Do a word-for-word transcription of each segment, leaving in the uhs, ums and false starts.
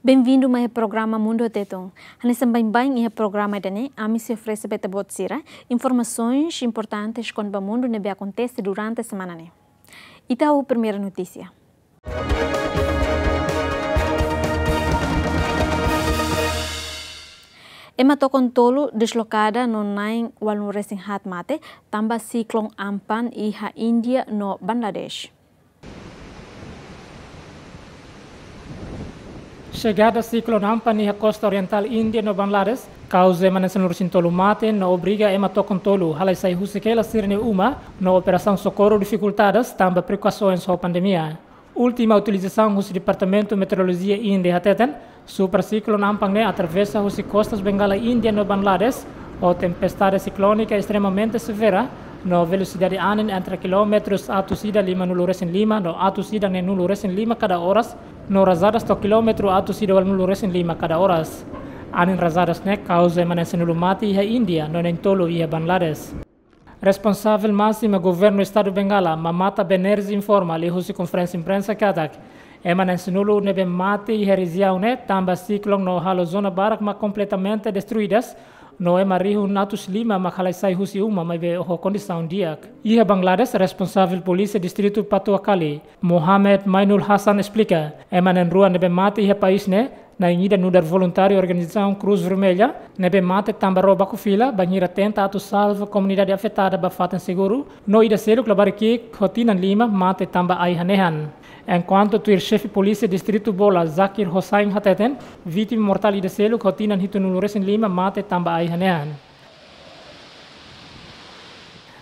Benvindu mai iha programa Mundu Tetun. Hanesan baibain iha programa ida-ne'e, ami sei oferese ba ita-boot sira informasoens importantes kona-ba mundu ne'ebé akontese durante semana ne'e. Ita hahú primeira notísia. Ema tokon tolu deslokada no na'in ualunulu-resin-haat mate tanba siklon Amphan iha Índia no Bangladesh. Xegada siklon Amphan iha kosta orientál Índia no Bangladesh kauza ema na'in sanulu-resin-tolu mate no obriga ema tokon tolu halai sai husik hela sira-nia uma no operasaun sokorru difikultadas tanba preokupasoens ho pandemia. Última atualizasaun husi Departamentu Meteorolojia Índia hateten, super siklon Amphan ne'e atravesa husi kostas Bengala Índia no Bangladesh, ho tempestade siklónika estremamente severa, no velosidade anin entre kilómetrus atus ida limanulu-resin-lima no atus ida neenulu-resin-lima kada oras, no razadas to'o kilómetru atus ida ualunulu-resin-lima kada oras. Anin razadas ne'e kauza ema na'in sanulu mate iha Índia no na'in tolu iha Bangladesh. Responsavel másima Governu Estadu Bengala, Mamata Banerjee, informa liuhusi konferénsia imprensa katak ema na'in sanulu ne'ebé mate iha rejiaun ne'e tanba siklon no halo zona barak mak kompletamente destruidas, no ema rihun atus lima mak halai sai husi uma maibé ho kondisaun di'ak. Iha Bangladesh, responsavel polísia distritu Patuakhali, Mohamed Mainul Hasan, esplika, ema na'in rua ne'ebé mate iha país ne'e, na'in ida nu'udar voluntáriu organizasaun Cruz Vermelha, ne'ebé mate tanba ró baku fila bainhira tenta atu salva komunidade afetada ba fatin seguru, no ida seluk labarik ki'ik ho tinan lima mate tanba ai hanehan. Enkuantu tuir xefe polísia distritu Bola, Zakir Hossain, hateten, vítima mortál ida seluk ho tinan hitunulu-resin-lima mate tanba ai hanehan.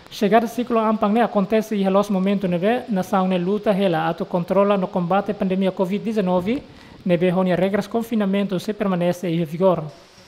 Xegada siklon Amphan ne'e akontese iha loos momentu ne'ebé nasaun ne'e luta hela atu kontrola no kombate pandemia covid dezanove, ne'ebé ho nia regras konfinamentu sei permanese iha vigór.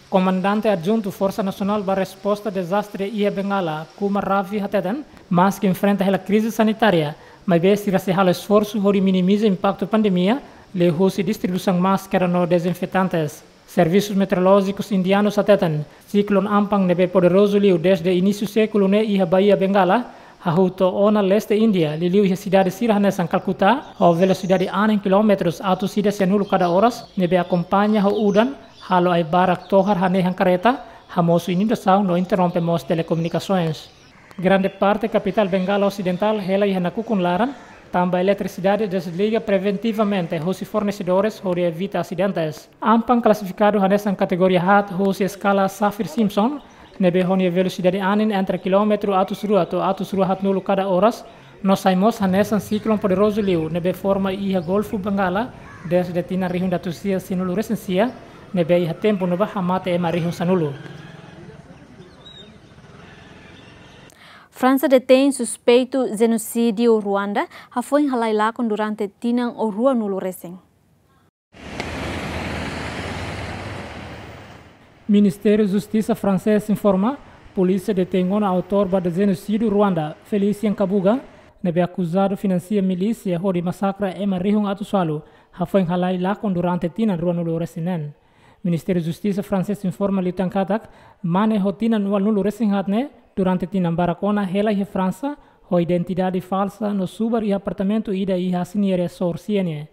Komandante Adjuntu Forsa Nasionál ba Resposta Dezastre iha Bengala, Kumar Ravi, hateten, maski enfrenta hela krize sanitária, maibé sira sei halo esforsu hodi minimiza impaktu pandemia, liuhusi distribuisaun máskara no dezinfetantes. Servisus meteorolójikus indianus hateten, siklon Amphan ne'ebé poderozu liu desde inísiu sékulu ne'e iha Baía Bengala, hahú to'o ona leste Índia, liuliu iha sidade sira hanesan Calcutta, ho velosidade anin kilómetrus atus ida sianulu kada oras, ne'ebé akompaña ho udan, halo ai barak tohar hanehan karreta, hamosu inundasaun no interrompe mós telekomunikasoens. Grande parte kapitál Bengala Osidentál hela iha nakukun laran, tanba eletrisidade desliga preventivamente husi fornesedores hodi evita asidentes. Amphan klasifikadu hanesan kategoria haat husi eskala Saffir-Simpson, ne'ebé ho nia velosidade anin entre kilómetru atus rua to'o atus rua haatnulu kada oras, no sai mós hanesan siklon poderozu liu ne'ebé forma iha Golfu Bengala desde tinan rihun atus sia sianulu-resin-sia, ne'ebé iha tempu ne'ebá hamate ema rihun sanulu. Fransa detein suspeitu jenosídiu Ruanda, hafoin halai lakon durante tinan ruanulu-resin. Ministériu Justisa fransés informa, polísia detein ona autór ba jenosídiu Ruanda, Félicien Kabuga, ne'ebé akuzadu finansia milísia hodi masakra ema rihun atus ualu, hafoin halai lakon durante tinan ruanulu-resin-neen. Ministériu Justisa fransés informa liután katak, mane ho tinan ualunulu-resin-haat ne'e, durante tinan barak ona hela iha Fransa, ho identidade falsa no subar iha apartamentu ida iha Asiniere, Sor Siene.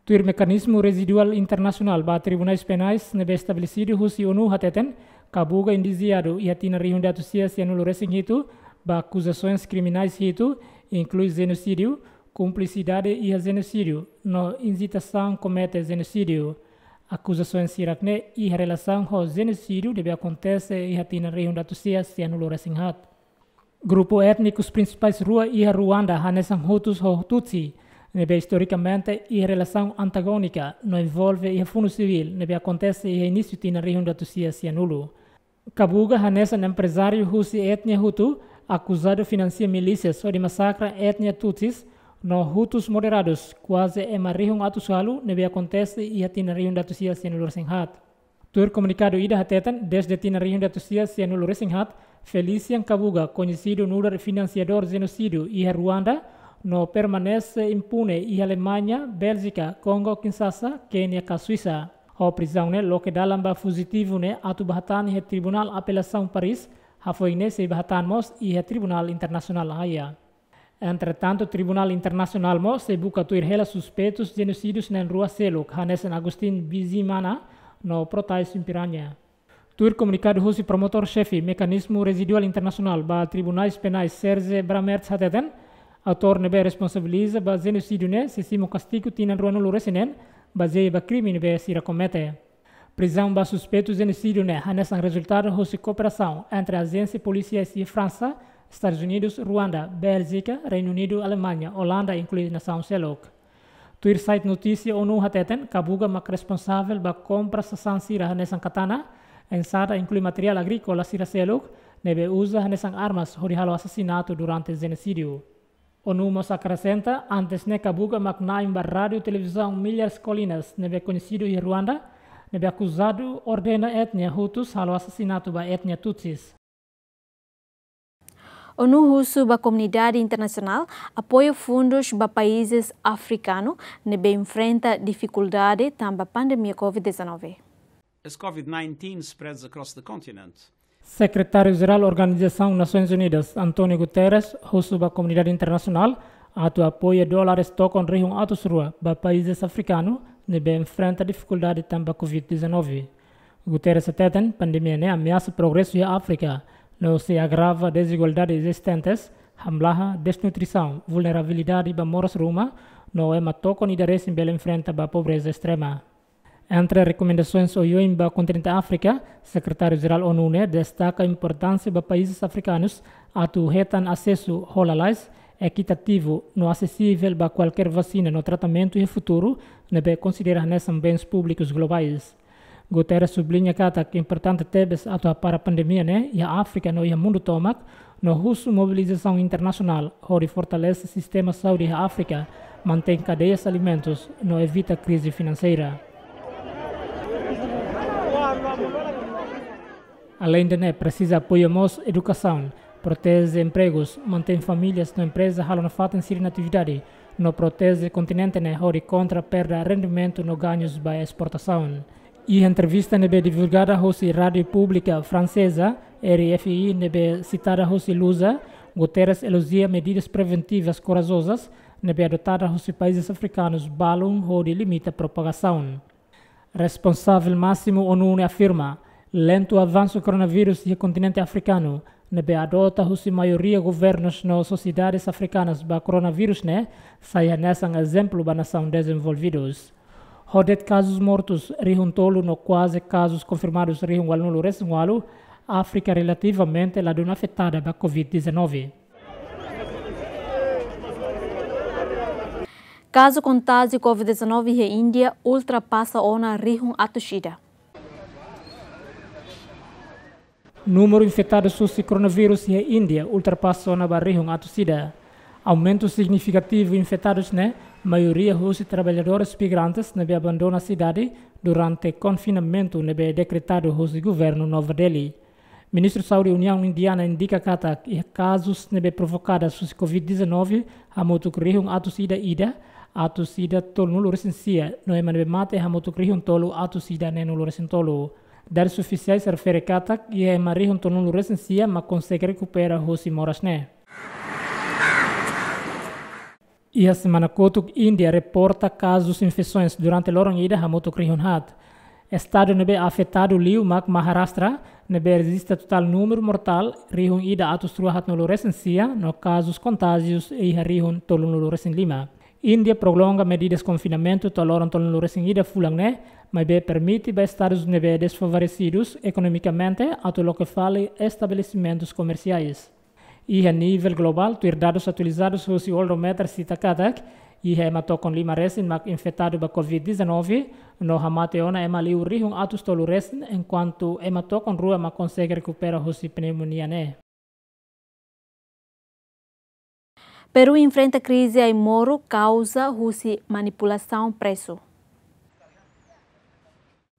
Tuir mekanizmu reziduál internasionál ba tribunais penais ne'ebé estabelesidu husi ONU hateten, Kabuga indisiadu iha tinan rihun atus sia sianulu-resin-hitu, ba akuzasoens kriminais hitu, inklui jenosídiu, kumplisidade iha jenosídiu, no injitasaun komete jenosídiu. Akuzasoens hirak ne'e iha relasaun ho jenosídiu ne'ebé akontese iha tinan rihun atus sia sianulu-resin-haat. Grupu étnikus prinsipais rua iha Ruanda hanesan Hutus ho Tutsi, ne'ebé istorikamente iha relasaun antagónika no envolve iha funu sivíl ne'ebé akontese iha inísiu tinan rihun atus sia sianulu. Kabuga hanesan emprezáriu husi étnia Hutu, akuzadu finansia milísias hodi masakra étnia Tutsis no Hutus moderadus, kuaze ema rihun atus ualu ne'ebé akontese iha tinan rihun atus sia sianulu-resin-haat. Tuir komunikadu ida hateten, desde tinan rihun atus sia sianulu-resin-haat, Félicien Kabuga, koñesidu nu'udar finansiadór jenosídiu iha Ruanda, no permanese impune iha Alemaña, Béljika, Kongo Kinsasa, Kénia ka Suisa. Ho prizaun ne'e loke dalan ba fujitivu ne'e atu bá hatán iha Tribunál Apelasaun Paris, hafoin ne'e sei bá hatán mós iha Tribunál Internasionál La Haia. Entretantu, Tribunál Internasionál mós sei buka tuir hela suspeitus jenosídiu na'in rua seluk, hanesan Agustin Bizimana no Protais Piranha. Tuir komunikadu husi promotór xefe Mekanizmu Reziduál Internasionál ba Tribunais Penais, Serge Brammertz, hateten, autór ne'ebé responsabiliza ba jenosídiu ne'e sei simu kastigu tinan ruanulu resin neen, bazeia ba krime ne'ebé sira komete. Prizaun ba suspeitu jenosídiu ne'e hanesan rezultadu husi kooperasaun entre ajénsia polisiais iha Fransa, Estadus Unidus, Ruanda, Béljika, Reinu Unidu, Alemaña, Olanda, inklui nasaun seluk. Tuir site notísia ONU hateten, Kabuga mak responsavel ba kompra sasán sira hanesan katana, ensada, inklui materiál agríkola sira seluk, ne'ebé uza hanesan armas hodi halo asasinatu durante jenosídiu. ONU mós akresenta, antes ne'e Kabuga mak na'in ba rádiu televizaun Milhas Colinas, ne'ebé koñesidu iha Ruanda, ne'ebé akuzadu ordena etnia Hutus halo asasinatu ba etnia Tutsis. ONU husu ba komunidade internasionál apoia fundus ba países afrikanu ne'ebé enfrenta difikuldade tanba pandemia covid dezanove. As covid nineteen spreads across the continent. Sekretáriu-Jerál Organizasaun Nasoins Unidas, António Guterres, husu ba komunidade internasionál atu apoia dólares tokon rihun atus rua ba países afrikanu ne'ebé enfrenta difikuldade tanba covid dezanove. Guterres hateten, pandemia ne'e ameasa progresu iha Áfrika, no sei agrava dezigualdade ezistentes, hamlaha desnutrisaun, vulnerabilidade ba moras ruma, no ema tokon ida resin bele enfrenta ba pobreza estrema. Entre rekomendasoens oioin ba kontinente Áfrika, Sekretáriu-Jerál ONU ne'e destaka importánsia ba países afrikanus atu hetan asesu ho lalais, ekitativu no asesivel ba kualkér vasina no tratamentu iha futuru, ne'ebé konsidera hanesan bens públikus globais. Guterres subliña katak importante tebes atu hapara pandemia ne'e iha Áfrika no iha mundu tomak, no husu mobilizasaun internasionál hodi fortalese sistema saúde iha Áfrika, mantein kadeias alimentus no evita krize finanseira. Aleinde ne'e, presiza apoia mós edukasaun, proteje empregus, mantein famílias no empreza halo nafatin sira-nia atividade, no proteje kontinente ne'e hodi kontra perda rendimentu no gañus ba esportasaun. Iha entrevista ne'ebé divulgada hosi Rádiu Públika Franseza, R F I, ne'ebé sitada hosi Lusa, Guterres elojia medidas preventivas korajozas ne'ebé adotada hosi países afrikanus balun hodi limita propagasaun. Responsavel másimu ONU ne'e afirma, lentu avansu koronavírus iha kontinente afrikanu, ne'ebé adota hosi maioria governus no sosiedades afrikanas ba koronavírus ne'e, sai hanesan ezemplu ba nasaun dezenvolvidus. Ho de'it kazus mortus rihun tolu no kuaze kazus konfirmadus rihun ualunulu resin ualu, Áfrika relativamente ladún afetada ba covid dezanove. Kazu kontájiu covid dezanove iha Índia ultrapasa ona rihun atus ida. Númeru infetadus husi koronavírus iha Índia ultrapasa ona ba rihun atus ida. Aumentu signifikativu infetadus ne'e, maioria husi traballadores migrantes ne'ebé abandona sidade durante konfinamentu ne'ebé dekretadu husi governu Nova Delhi. Ministru Saúde Uniaun Indiana indika katak iha kazus ne'ebé provokada husi covid dezanove hamutuk rihun atus ida ida, atus ida tolunulu resin sia, no ema ne'ebé mate hamutuk rihun tolu atus ida neenulu resin tolu. Dadus ofisiais refere katak iha ema rihun tolunulu resin sia mak konsege rekupera husi moras ne'e. Iha semana kotuk, Índia reporta kazus infesoens durante loron ida hamutuk rihun haat. Estadu ne'ebé afetadu liu mak Maharashtra, ne'ebé rejista totál númeru mortál rihun ida atus rua haatnulu resin sia, no kazus kontájius iha rihun tolunulu resin lima. Índia prolonga medidas konfinamentu to'o loron tolunulu resin ida fulan ne'e, maibé permite ba estadus ne'ebé desfavoresidus ekonomikamente atu loke fali estabelesimentus komersiais. Iha nivel globál, tuir dadus atualizadus husi Worldometer sita katak, iha ema tokon lima resin mak infetadu ba covid dezanove, no hamate ona ema liu rihun atus tolu resin, enkuantu ema tokon rua mak konsege rekupera husi pneumonia ne'e. Peru enfrenta krize ai-moruk kauza husi manipulasaun presu.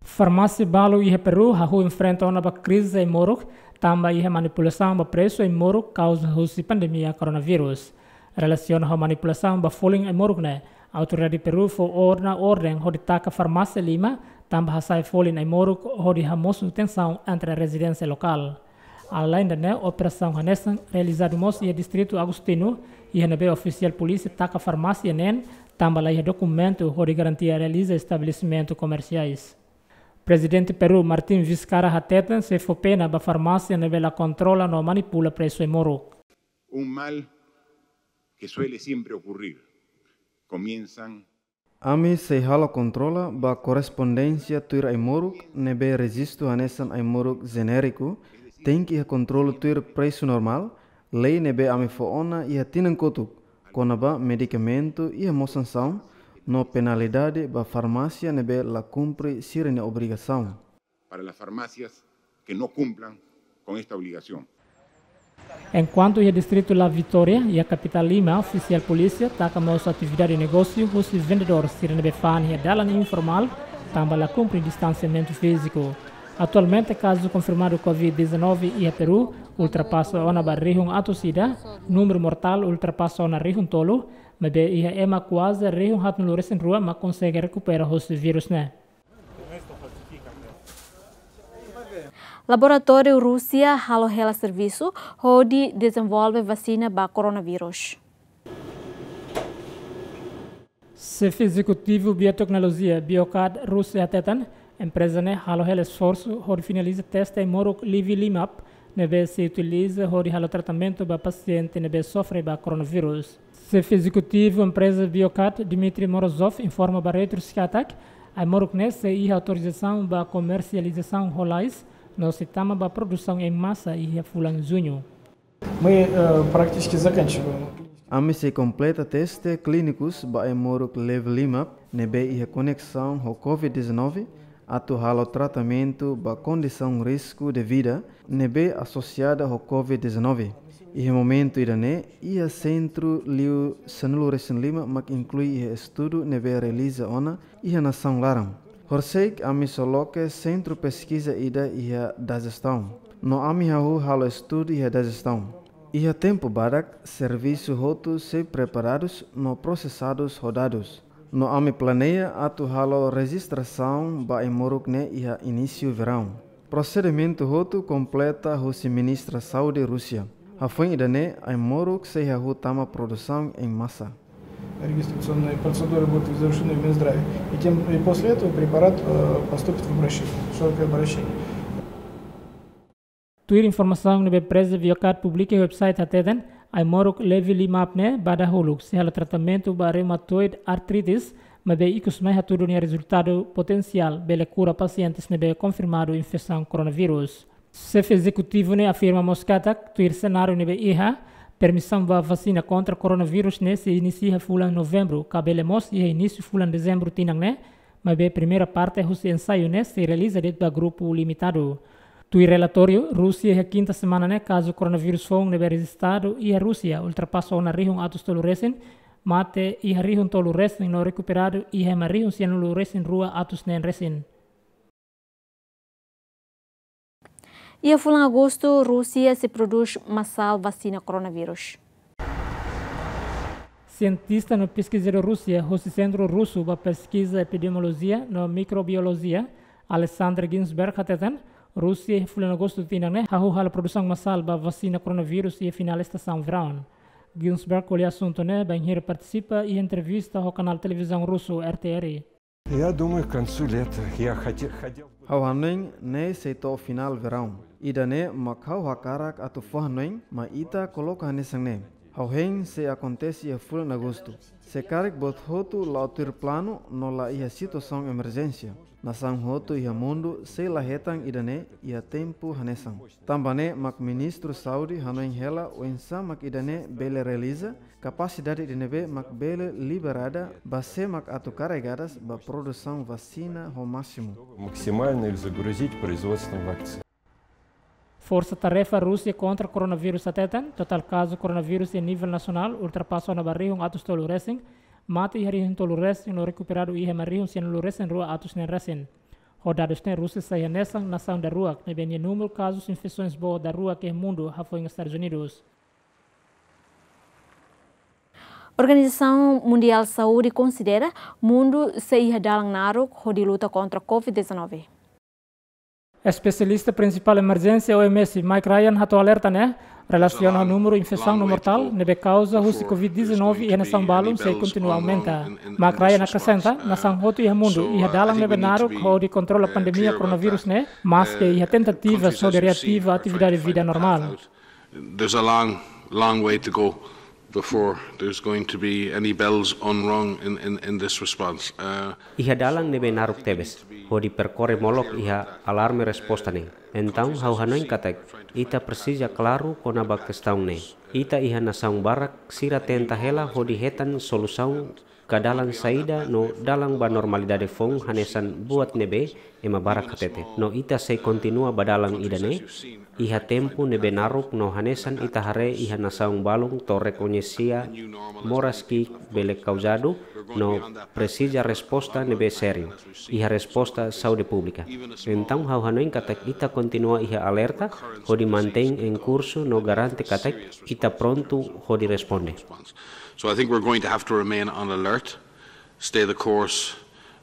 Farmásia balu iha Peru hahú enfrenta ona ba krize ai-moruk, tanba iha manipulasaun ba presu ai-moruk kauza husi pandemia koronavírus. Relasiona ho manipulasaun ba folin ai-moruk ne'e, autoridade Peru fó ona orden hodi taka farmásia lima, tanba hasa'e folin ai-moruk hodi hamosu tensaun entre rezidente lokál. Alende ne'e, operasaun hanesan realizadu mós iha distritu Agostinho, iha ne'ebé ofisiál polísia taka farmásia neen, tanba laiha dokumentu hodi garantia realiza estabelesimentu komersiais. Prezidente Peru, Martín Vizcarra hateten, sei fó pena ba farmásia ne'ebé la kontrola no manipula presu ai-moruk. Un mal que suele siempre ocurrir. Comienzan Ami sei halo kontrola ba korrespondénsia tuir ai-moruk ne'ebé rejistu hanesan ai-moruk jenériku, tenke iha kontrolu tuir presu normál, lei ne'ebé ami fó ona iha tinan kotuk, kona-ba medikamentu iha mós sansaun no penalidade ba farmásia ne'ebé la kumpre sira-nia obrigasaun. Para las farmacias que no cumplan con esta obligación. Enkuantu iha distritu La Vitória, iha kapitál Lima, ofisiál polísia taka mós atividade negósiu husi vendedór sira ne'ebé fa'an iha dalan informál, tanba la kumpre distansiamentu fíziku. Atualmente, kazu konfirmadu Covid dezanove iha Peru ultrapasa ona ba rihun atus ida, númeru mortál ultrapasa ona rihun tolu, maibé iha ema kuaze rihun haatnulu-resin-rua mak konsege rekupera husi vírus ne'e. Laboratóriu Rúsia halo hela servisu hodi dezenvolve vasina ba koronavírus. Xefe ezekutivu bioteknolojia BioCAD Rúsia hateten, empreza ne'e halo hela esforsu hodi finaliza teste ai-moruk Livilimab, ne'ebé sei utiliza hodi halo tratamentu ba pasiente ne'ebé sofre ba koronavírus. Xefe ezekutivu empreza BioCAD, Dmitry Morozov, informa ba Reuters katak, ai-moruk ne'e sei iha autorizasaun ba komersializasaun ho lalais, no sei tama ba produsaun em massa iha fulan Juñu. Мы, э, практически заканчиваем. Ami sei kompleta teste klínikus ba ai-moruk Livilimab ne'ebé iha koneksaun ho Covid dezanove, atu halo tratamentu ba kondisaun risku de vida ne'ebé asosiada ho Covid dezanove. Iha momentu ida-ne'e, iha sentru liu sanulu-resin-lima mak inklui iha estudu ne'ebé realiza ona iha nasaun laran. Horisehik ami sei loke sentru peskiza ida iha Dagestão. No ami hahú halo estudu iha Dagestão. Iha tempu badak, servisu hotu sei preparadus no prosesadus ho dadus. No ami planeia atu halo rejistrasaun ba ai-moruk ne'e iha inísiu veraun. Prosedimentu hotu kompleta husi Ministra Saúde Rúsia. Hafoin ida-ne'e, ai-moruk sei hahú tama produsaun em massa. Регистрационные процедуры будут завершены в Минздраве. И тем, и после этого препарат, э, поступит в обращение, широкое обращение. Tuir informasaun ne'ebé empreza BioCAD publika iha website hateten, ai-moruk Livilimab ne'e ba dahuluk sei halo tratamentu ba reumatoid arthritis, maibé ikus mai hatudu nia rezultadu potensiál bele kura pasientes ne'ebé konfirmadu infesaun koronavírus. Xefe ezekutivu ne'e afirma mós katak, tuir senáriu ne'ebé iha, permisaun ba vasina kontra koronavírus ne'e sei inisia fulan Novembru, ka bele mós iha inísiu fulan Dezembru tinan ne'e, maibé primeira parte husi ensaiu ne'e sei realiza de'it ba grupu limitadu. Tuir relatóriu, Rúsia iha kinta semana ne'e kazu koronavírus foun ne'ebé rejistadu iha Rúsia ultrapasa ona rihun atus tolu-resin, mate iha rihun tolu-resin no rekuperadu iha ema rihun sianulu-resin-rua atus neen-resin. Iha fulan Agostu, Rúsia sei prodús masál vasina koronavírus. Sientista no peskizadór Rúsia, husi Sentru Rusu ba Peskiza Epidemiolojia no Mikrobiolojia, Alexander Ginsberg hateten, Rúsia iha fulan Agostu tinan ne'e hahú halo produsaun masál ba vasina koronavírus iha finál estasaun veraun. Ginsberg ko'alia asuntu ne'e bainhira partisipa iha entrevista ho kanál televizaun rusu R T R. Я думаю, к концу лета я хоте-, хотел бы Ha'u hanoin ne'e sei to'o finál veraun. Ida-ne'e mak ha'u hakarak atu fó hanoin, mai ita koloka hanesan ne'e. Ha'u hein sei akontese iha fulan Agostu. Se karik buat hotu la'o tuir planu no la iha situasaun emerjénsia, nasaun hotu iha mundu sei la hetan ida-ne'e iha tempu hanesan. Tanba ne'e mak Ministru Saúde hanoin hela oinsá mak ida-ne'e bele realiza, kapasidade ida ne'ebé mak bele liberada, ba sé mak atu karregadas ba produsaun vasina ho másimu. Максимально их загрузить производством вакцин. Forsa Tarefa Rúsia kontra koronavírus hateten, totál kazu koronavírus iha nivel nasionál ultrapasa ona ba rihun atus tolu-resin, mate iha rihun tolu-resin no rekuperadu iha ema rihun sianulu-resin-rua atus neen-resin. Ho dadus ne'e Rúsia sai hanesan nasaun daruak ne'ebé nia númeru kazus infesoens boot daruak iha mundu hafoin Estadus Unidus. Organizasaun Mundiál Saúde konsidera mundu sei iha dalan naruk hodi luta kontra Covid dezanove. Espesialista prinsipál emerjénsia O M S, Mike Ryan, hato'o alerta ne'e relasiona ho númeru infesaun no mortál ne'ebé kauza husi covid dezanove iha nasaun balun sei kontinua aumenta. Mike Ryan akresenta, nasaun hotu iha mundu iha dalan ne'ebé naruk hodi kontrola pandemia koronavírus ne'e, maske iha tentativas hodi reativa atividade vida normál. There's a long, long way to go before there's going to be any bells unrung in, in, in this response. Uh, Iha dalan ne'ebé naruk tebes hodi perkorre molok iha alarme resposta ne'e. Entaun ha'u hanoin katak ita presiza klaru kona-ba kestaun ne'e. Ita iha nasaun barak sira tenta hela hodi hetan solusaun ka dalan saida no dalan ba normalidade foun hanesan buat ne'ebé ema barak hatete. No ita sei kontinua ba dalan ida-ne'e iha tempu ne'ebé naruk no hanesan ita haree iha nasaun balun to'o rekoñese moras ki'ik bele kauzadu no presiza resposta ne'ebé sériu iha resposta saúde públika. Entaun ha'u hanoin katak ita kontinua iha alerta hodi mantein em curso no garante katak ita prontu hodi responde. So I think we're going to have to remain on alert, stay the course,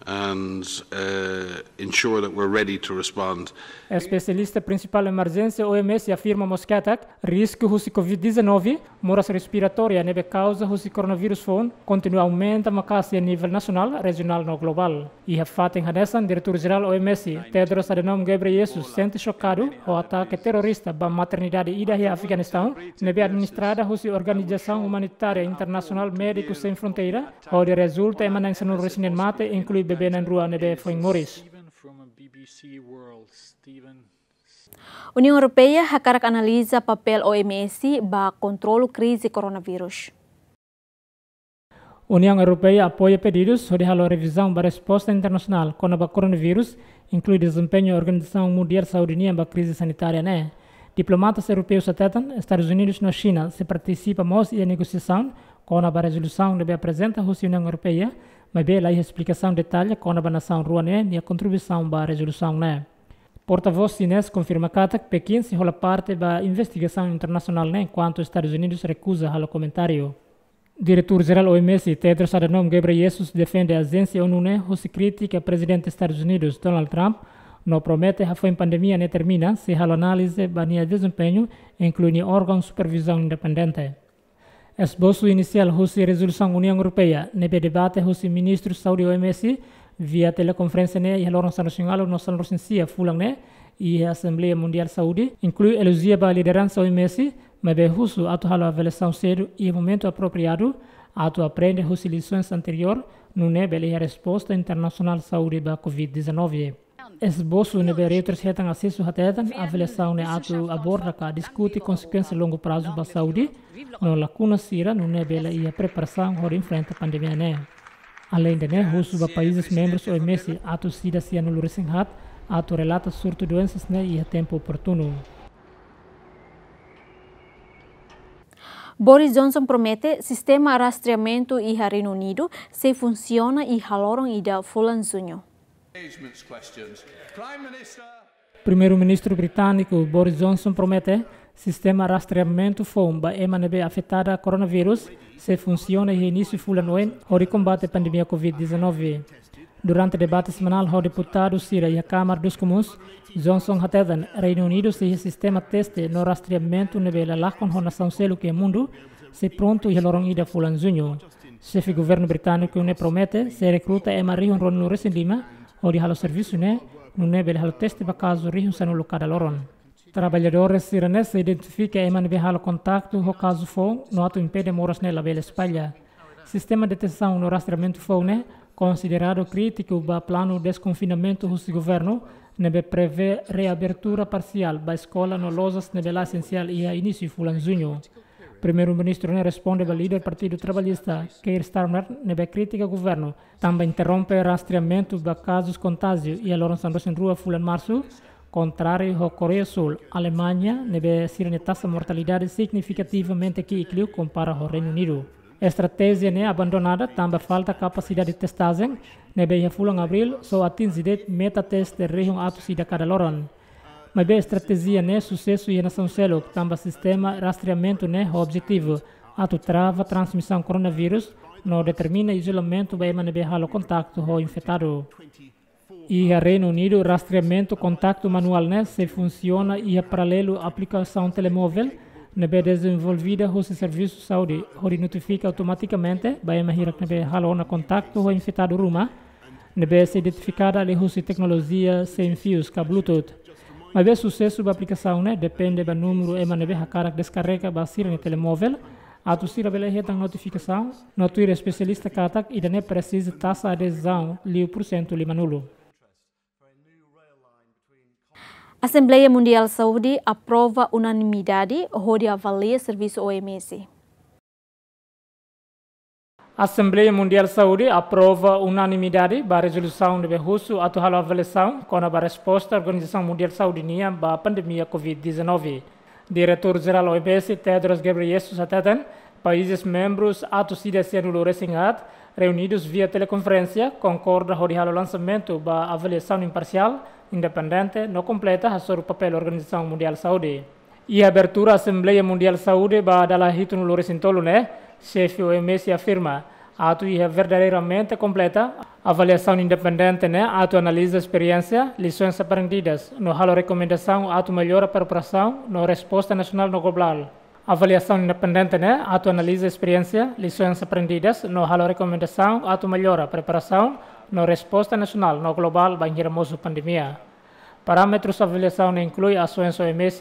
and uh, ensure that we're ready to respond. Espesialista prinsipál emerjénsia O M S afirma mós katak risku husi covid dezanove, moras respiratória ne'ebé kauza husi koronavírus foun, kontinua aumenta maka'as iha nivel nasionál, rejionál no globál. Iha fatin hanesan, Diretór Jerál O M S, Tedros Adhanom Ghebreyesus, sente xokadu ho atake terrorista ba maternidade ida iha Afeganistaun, ne'ebé administrada husi organizasaun umanitária internasionál Médicos Sem Fronteiras, hodi rezulta ema na'in sanulu-resin-neen mate, inklui bebé na'in-rua ne'ebé foin moris. Uniaun Europeia hakarak analiza papél O M S ba kontrolu krize koronavírus. Uniaun Europeia apoia pedidus hodi halo revizaun ba resposta internasionál kona-ba koronavírus, inklui dezempeñu Organizasaun Mundiál Saúde nian ba krize sanitária ne'e. Diplomatas europeus hateten, Estadus Unidus no Xina sei partisipa mós iha negosiasaun kona-ba rezolusaun ne'ebé aprezenta husi Uniaun Europeia, maibé la iha esplikasaun detalla kona-ba nasaun rua ne'e nia kontribuisaun ba rezolusaun ne'e. Portavós xinés konfirma katak Pekin sei hola parte ba investigasaun internasionál ne'e, enkuantu Estadus Unidus rekuza halo komentáriu. Diretór Jerál O M S, Tedros Adhanom Ghebreyesus, defende ajénsia ONU ne'e husi krítika Prezidente Estadus Unidus, Donald Trump, no promete hafoin pandemia ne'e termina sei halo análize ba nia dezempeñu, inklui nia órgaun supervizaun independente. Esbosu inisiál husi rezolusaun Uniaun Europeia ne'ebé debate husi Ministru Saúde O M S via telekonferénsia ne'e iha loron sanulu-resin-ualu no sanulu-resin-sia fulan ne'e iha Asembleia Mundiál Saúde, inklui elojia ba lideransa O M S, maibé husu atu halo avaliasaun sedu iha momentu apropriadu, atu aprende husi lisaun anteriór, nune'e bele iha resposta internasionál saúde ba covid dezanove. Esbosu ne'ebé Reuters hetan asesu hateten, avaliasaun ne'e atu aborda ka diskute konsekuénsia longu prazu ba saúde, no lakuna sira, nune'e bele iha preparasaun hodi enfrenta pandemia ne'e. Aleinde ne'e, husu ba países membrus O M S atu sida sanulu-resin-haat atu relata surtu doensas ne'e iha tempu oportunu. Boris Johnson promete sistema rastreamentu iha Reinu Unidu sei funsiona iha loron ida fulan Juñu. Primeiru-Ministru britániku Boris Johnson promete sistema rastreamentu foun ba ema ne'ebé afetada koronavírus sei funsiona iha inísiu fulan oin hodi kombate pandemia covid dezanove. Durante debate semanál ho deputadu sira iha Kámara dos Komuns, Johnson hateten Reinu Unidu sei iha sistema teste no rastreamentu ne'ebé la lakon ho nasaun seluk iha mundu, sei prontu iha loron ida fulan Juñu. Xefe governu britániku ne'e promete sei rekruta ema rihun ruanulu-resin-lima hodi halo servisu ne'e, nune'e bele halo teste ba kazu rihun sanulu kada loron. Traballadór sira-ne'e sei identifika ema ne'ebé halo kontaktu ho kazu foun no atu impede moras ne'e labele espalla. Sistema detesaun no rastreamentu foun ne'e konsideradu krítiku ba planu deskonfinamentu husi governu, ne'ebé prevee reabertura parsiál ba eskola no lojas ne'ebé la esensiál iha inísiu fulan Juñu. Primeiru-Ministru ne'e responde ba líder Partidu Trabalhista, Keir Starmer, ne'ebé kritika governu tanba interrompe rastreamentu ba kazus kontájiu iha loron sanulu-resin-rua fulan Marsu, kontráriu ho Koreia Súl, Alemaña, ne'ebé sira-nia taxa mortalidade signifikativamente ki'ik liu kompara ho Reinu Unidu. Estratéjia ne'e abandonada tanba falta kapasidade testajen, ne'ebé iha fulan Abríl só atinje de'it meta teste rihun atus ida kada loron. Maibé estratéjia ne'e susesu iha nasaun seluk tanba sistema rastreamentu ne'e ho objetivu atu trava transmisaun koronavírus no determina izolamentu ba ema ne'ebé halo kontaktu ho infetadu. Iha Reinu Unidu, rastreamentu kontaktu manuál ne'e sei funsiona iha paralelu aplikasaun telemóvel ne'ebé dezenvolvida husi Servisu Saúde, hodi notifika automatikamente ba ema hirak ne'ebé halo ona kontaktu ho infetadu ruma, ne'ebé sei identifikada liuhusi teknolojia sein fius ka Bluetooth. Maibé susesu ba aplikasaun ne'e depende ba númeru ema ne'ebé hakarak deskarrega ba sira-nia telemóvel, atu sira bele hetan notifikasaun, no tuir espesialista katak ida-ne'e presiza taxa adezaun liu pursentu limanulu. Asembleia Mundiál Saúde aprova unanimidade hodi avalia servisu O M S. Asembleia Mundiál Saúde aprova unanimidade ba rezolusaun ne'ebé husu atu halo avaliasaun kona-ba resposta Organizasaun Mundiál Saúde nian ba pandemia covid dezanove. Diretór Jerál O M S, Tedros Ghebreyesus, hateten países membrus atus ida sianulu-resin-haat, reunidu via telekonferénsia, konkorda hodi halo lansamentu ba avaliasaun imparsiál, independente no kompleta hasoru papél Organizasaun Mundiál Saúde. Iha abertura Asembleia Mundiál Saúde ba dala hitunulu-resin-tolu ne'e, xefe O M S afirma atu iha verdadeiramente kompleta avaliasaun independente ne'e atu analiza esperiénsia, lisoens aprendidas, no halo rekomendasaun atu mellora preparasaun no resposta nasionál no globál. Avaliasaun independente ne'e atu analiza esperiénsia, lisoens aprendidas, no halo rekomendasaun atu mellora preparasaun no resposta nasionál no globál bainhira mosu pandemia. Parâmetrus avaliasaun ne'e inklui asoens O M S,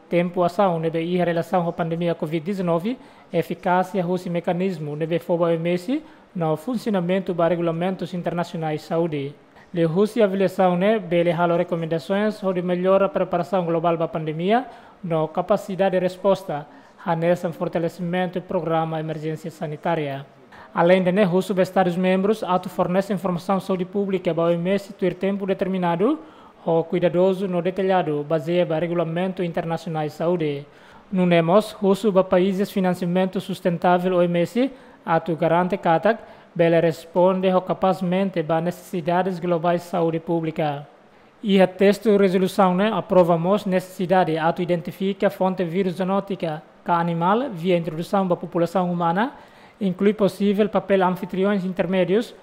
tempu asaun ne'ebé iha relasaun ho pandemia covid dezanove, efikásia husi mekanizmu ne'ebé fó ba O M S, no funsionamentu ba regulamentus internasionais saúde. Liuhusi avaliasaun ne'e bele halo rekomendasoens hodi mellora preparasaun globál ba pandemia, no kapasidade resposta, hanesan fortalesimentu programa emerjénsia sanitária. Aleinde ne'e, husu ba Estadus membrus atu fornese informasaun saúde públika ba O M S tuir tempu determinadu, ho kuidadozu no detalladu, bazeia ba regulamentu internasionál saúde. Nune'e mós husu ba países finansiamentu sustentável O M S atu garante katak bele responde ho kapasmente ba nesesidades globais saúde públika. Iha testu rezolusaun ne'e aprova mós nesesidade atu identifika fonte vírus zoonótika ka animál via introdusaun ba populasaun umana, inklui posivel papél anfitrioins intermédius,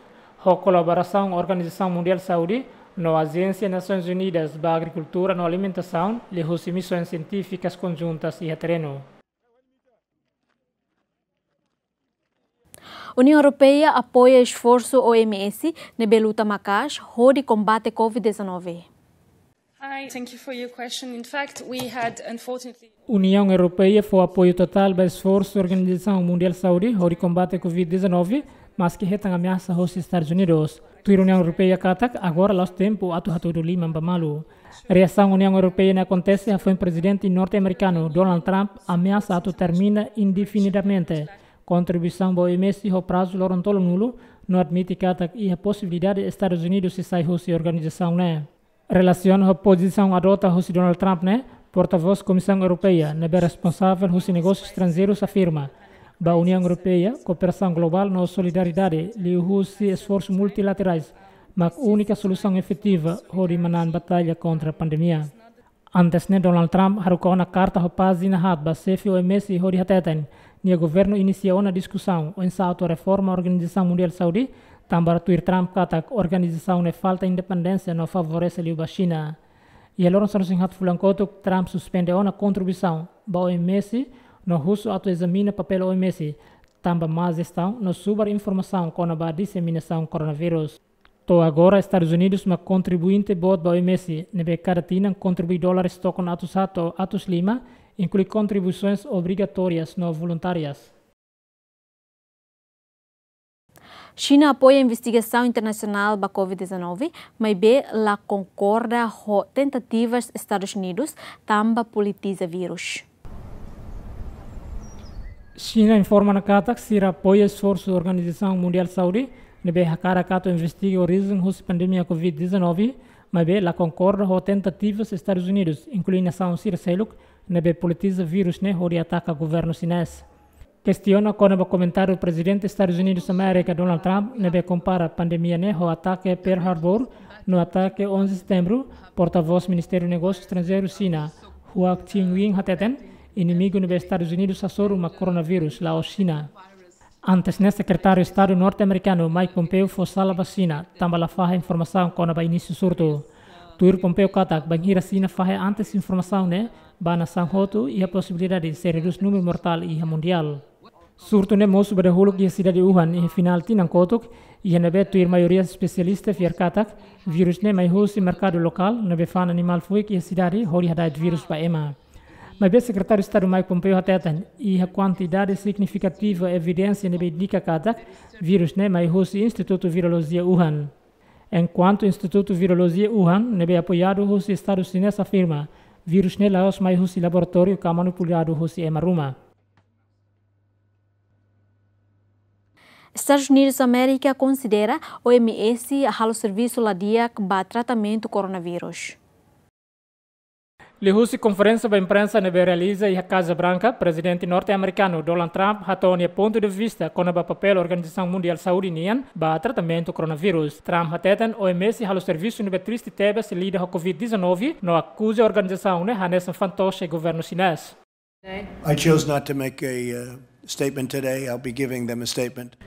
ho kolaborasaun Organizasaun Mundiál Saúde no Ajénsia Nasoins Unidas ba Agrikultura no Alimentasaun, liuhusi misoens sientífikas konjuntas iha terrenu. Uniaun Europeia apoia esforsu O M S ne'ebé luta maka'as hodi kombate covid dezanove. Hi, thank you for your question. In fact, we had, unfortunately, Uniaun Europeia fó apoiu totál ba esforsu Organizasaun Mundiál Saúde hodi kombate covid dezanove, maski hetan ameasa hosi Estadus Unidus. Tuir Uniaun Europeia katak, agora la'ós tempu atu hatudu liman ba malu. Reasaun Uniaun Europeia ne'e akontese hafoin Prezidente norte-amerikanu Donald Trump ameasa atu termina indefinidamente kontribuisaun ba O M S ho prazu loron tolunulu, no admite katak iha posibilidade Estadus Unidus sei sai hosi organizasaun ne'e. Relasiona ho pozisaun adota hosi Donald Trump ne'e, portavós Komisaun Europeia ne'ebé responsavel hosi negósius estranjeirus afirma, ba Uniaun Europeia, kooperasaun globál no solidariedade liuhusi esforsu multilaterais mak únika solusaun efetiva hodi manán batalla kontra pandemia. Antes ne'e, Donald Trump haruka ona karta ho pájina haat ba xefe O M S hodi hateten, nia governu inisia ona diskusaun oinsá atu reforma Organizasaun Mundiál Saúde, tanba tuir Trump katak organizasaun ne'e falta independénsia no favorese liu ba Xina. Iha loron sanulu-resin-haat fulan kotuk, Trump suspende ona kontribuisaun ba O M S no husu atu ezamina papél O M S, tanba má jestaun no subar informasaun kona-ba diseminasaun koronavírus. To'o agora, Estadus Unidus mak kontribuinte boot ba O M S, ne'ebé kada tinan kontribui dólares tokon atus haat to'o atus lima, inklui kontribuisoens obrigatórias no voluntárias. Xina apoia investigasaun internasionál ba covid dezanove, maibé la konkorda ho tentativas Estadus Unidus tanba politiza vírus. Xina informa ona katak sira apoia esforsu Organizasaun Mundiál Saúde ne'ebé hakarak atu investiga orijen hosi pandemia covid dezanove, maibé la konkorda ho tentativas Estadus Unidus, inklui nasaun sira seluk, ne'ebé politiza vírus ne'e hodi ataka governu xinés. Kestiona kona-ba komentáriu Prezidente Estadus Unidus Amérika, Donald Trump, ne'ebé kompara pandemia ne'e ho atake Pearl Harbor no atake onze Setembru, portavós Ministériu Negósius Estranjeirus Xina, Hua Chunying, hateten, inimigu ne'ebé Estadus Unidus hasoru mak koronavírus, la'ós Xina. Antes ne'e, Sekretáriu Estadu norte-amerikanu Mike Pompeo fó sala ba Xina, tanba la fahe informasaun kona-ba inísiu surtu. Tuir Pompeo katak, bainhira Xina fahe antes informasaun ne'e, ba nasaun hotu iha posibilidade sei redús númeru mortál iha mundiál. Surtu ne'e mosu ba dahuluk iha sidade Wuhan iha finál tinan kotuk, iha ne'ebé tuir maioria espesialista fiar katak, vírus ne'e mai husi merkadu lokál, ne'ebé fa'an animál fuik iha sidade, hodi hada'et vírus ba ema. Maibé Sekretáriu Estadu Mike Pompeo hateten, iha kuantidade signifikativa evidénsia ne'ebé indika katak, vírus ne'e mai husi Institutu Virolojia Wuhan. Enkuantu Institutu Virolojia Wuhan, ne'ebé apoiadu husi Estadu Xinés afirma, vírus ne'e la'ós mai husi laboratóriu ka manipuladu husi ema ruma. Estadus Unidus Amérika konsidera O M S halo servisu la di'ak ba tratamentu koronavírus. Liuhusi konferénsia ba imprensa ne'ebé realiza iha Kaza Branka, Prezidente norte-amerikanu Donald Trump hato'o nia pontu de vista kona-ba papél Organizasaun Mundiál Saúde nian ba tratamentu koronavírus. Trump hateten O M S halo servisu ne'ebé triste tebes liuliu ho Covid dezanove, no akuza organizasaun ne'e hanesan fantoche governu xinés. I chose not to make a, uh, statement today. I'll be giving them a statement.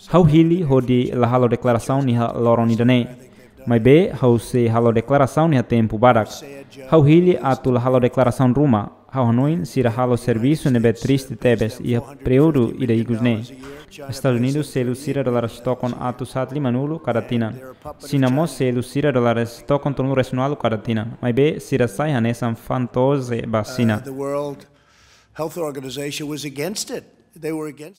Ha'u hili hodi la halo deklarasaun iha loron ida-ne'e. Maibé, ha'u sei halo deklarasaun iha tempu badak. Ha'u hili atu la halo deklarasaun ruma. Ha'u hanoin sira halo servisu ne'ebé triste tebes iha períodu ida ikus ne'e. Estadus Unidus selu sira dólares tokon atus haat limanulu kada tinan. Xina mós selu sira dólares tokon tolunulu-resin-ualu kada tinan. Maibé, sira sai hanesan fantoche ba Xina. Uh, the World Health Organization was against it. They were against.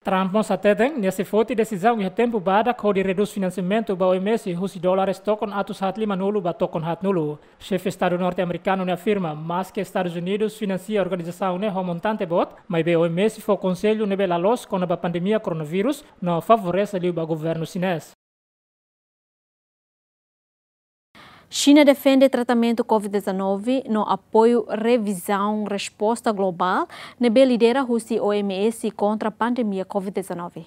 Trump mós hateten, nia sei foti desizaun iha tempu badak hodi redús finansiamentu ba O M S husi dólares tokon atus haat limanulu ba tokon haatnulu. Xefe Estadu norte-amerikanu ne'e afirma, maske Estadus Unidus finansia organizasaun ne'e ho montante boot, maibé O M S fó konsellu ne'ebé la loos kona-ba pandemia koronavírus, no favorese liu ba governu xinés. Xina defende tratamentu Covid dezanove no apoiu revizaun resposta globál ne'ebé lidera husi O M S kontra pandemia Covid dezanove.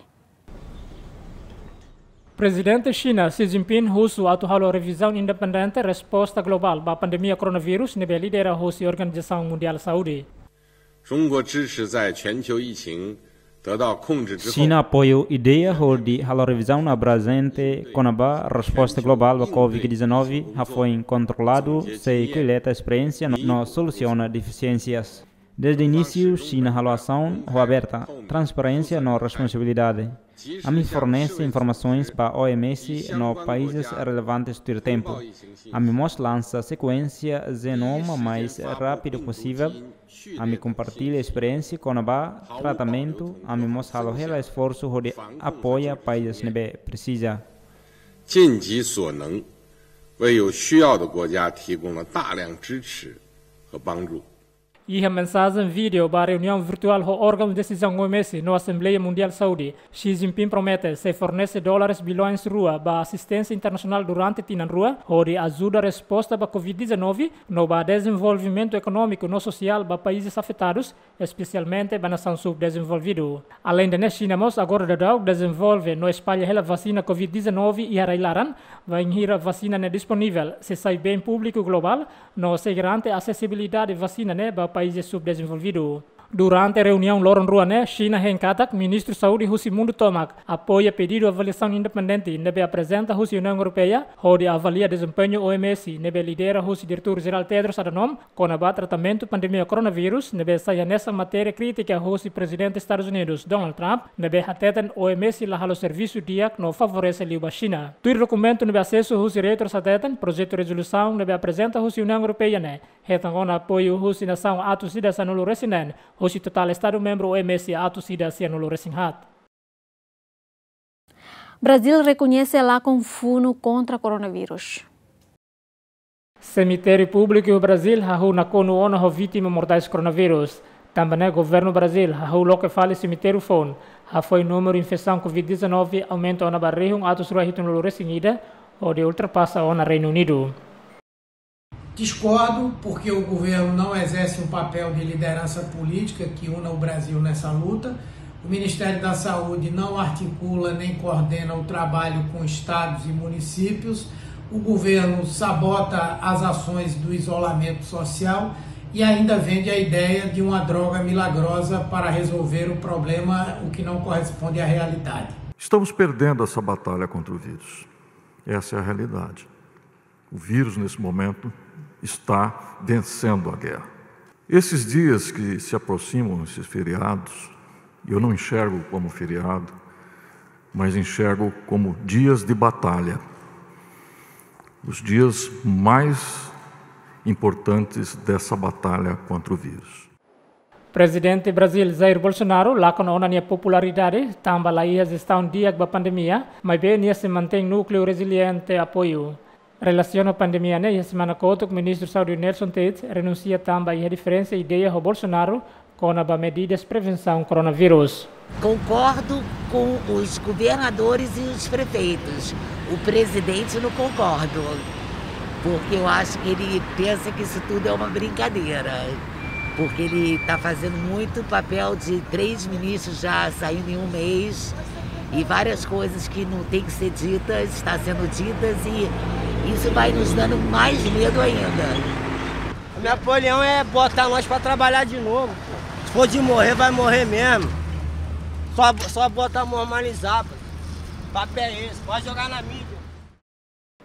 Prezidente Xina, Xi Jinping, husu atu halo revizaun independente resposta globál ba pandemia koronavírus ne'ebé lidera husi Organizasaun Mundiál Saúde. 中国支持在全球疫情得到控制之后，Xina apoiu ideia hodi halo revizaun abrajente kona-ba resposta globál ba Covid dezanove, hafoin kontroladu, sei koleta esperiénsia no, no solusiona defisiénsias. Dezde inísiu, Xina halo asaun ho aberta, transparénsia no responsabilidade. Ami fornese informasoens ba O M S no países relevantes tuir tempu. Ami mós lansa sekuénsia jenoma mais rápidu posivel. Ami kompartilla esperiénsia kona-ba tratamentu, ami mós halo hela esforsu hodi apoia países ne'ebé presiza. 尽己所能，为有需要的国家提供了大量支持和帮助。 Iha mensajen vídeo ba reuniaun virtuál ho órgaun desizaun O M S no Asembleia Mundiál Saúde, Xi Jinping promete sei fornese dólares bilhões rua ba asisténsia internasionál durante tinan rua, hodi ajuda resposta ba Covid dezanove, no ba dezenvolvimentu ekonómiku no sosiál ba países afetadus, espesialmente ba nasaun subdezenvolvidu. Aleinde ne'e, Xina mós agora daudaun dezenvolve no espalla hela vasina Covid dezanove iha rai-laran, bainhira vasina ne'e disponivel, sei sai bem públiku globál, no sei garante asesibilidade vasina ne'e ba países subdezenvolvidu. Durante reuniaun loron rua ne'e, Xina hein katak Ministru Saúde husi mundu tomak apoia pedidu avaliasaun independente ne'ebé aprezenta husi Uniaun Europeia, hodi avalia dezempeñu O M S ne'ebé lidera husi Diretór Jerál Tedros Adhanom, kona-ba tratamentu pandemia koronavírus, ne'ebé sai hanesan matéria krítika husi Prezidente Estadus Unidus, Donald Trump, ne'ebé hateten O M S la halo servisu di'ak no favorese liu ba Xina. Tuir dokumentu ne'ebé asesu husi Reuters hateten, projetu rezolusaun ne'ebé aprezenta husi Uniaun Europeia ne'e hetan ona apoiu husi nasaun atus ida sanulu-resin-neen, husi totál Estadu membru O M S atus ida sianulu-resin-haat. Brazil rekoñese lakon funu kontra koronavírus. Semitériu públiku iha Brazil hahú nakonu ona ho vítima mortais koronavírus. Tanba ne'e governu Brazil hahú loke fali semitériu foun, hafoin númeru infesaun Covid dezanove aumenta ona ba rihun atus rua hitunulu-resin-ida, hodi ultrapasa ona Reinu Unidu. Discordo, porque o governo não exerce um papel de liderança política que una o Brasil nessa luta. O Ministério da Saúde não articula nem coordena o trabalho com estados e municípios. O governo sabota as ações do isolamento social E ainda vende a ideia de uma droga milagrosa para resolver o problema, o que não corresponde à realidade. Estamos perdendo essa batalha contra o vírus. Essa é a realidade. O vírus, nesse momento, está vencendo a guerra. Esses dias que se aproximam, esses feriados, eu não enxergo como feriado, mas enxergo como dias de batalha. Os dias mais importantes dessa batalha contra o vírus. Prezidente Brazil Jair Bolsonaro lakon ona nia popularidade tanba la iha jestaun di'ak ba pandemia, maibé nia sei mantein núkleu reziliente apoiu. Relasiona pandemia ne'e, iha semana kotuk Ministru Saúde Nelson Taites renunsia tanba iha diferensa ideia ho Bolsonaro kona-ba medidas prevensaun koronavírus. Concordo com os governadores e os prefeitos. O presidente não concordo, porque eu acho que ele pensa que isso tudo é uma brincadeira, porque ele está fazendo muito papel de três ministros já saindo em um mês, e várias coisas que não tem que ser ditas está sendo ditas, e isso vai nos dando mais medo ainda. A minha opinião é botar nós pra trabalhar de novo. Se for de morrer, vai morrer mesmo. Só, só botar normalizar, pô. Papel é esse, pode jogar na mídia.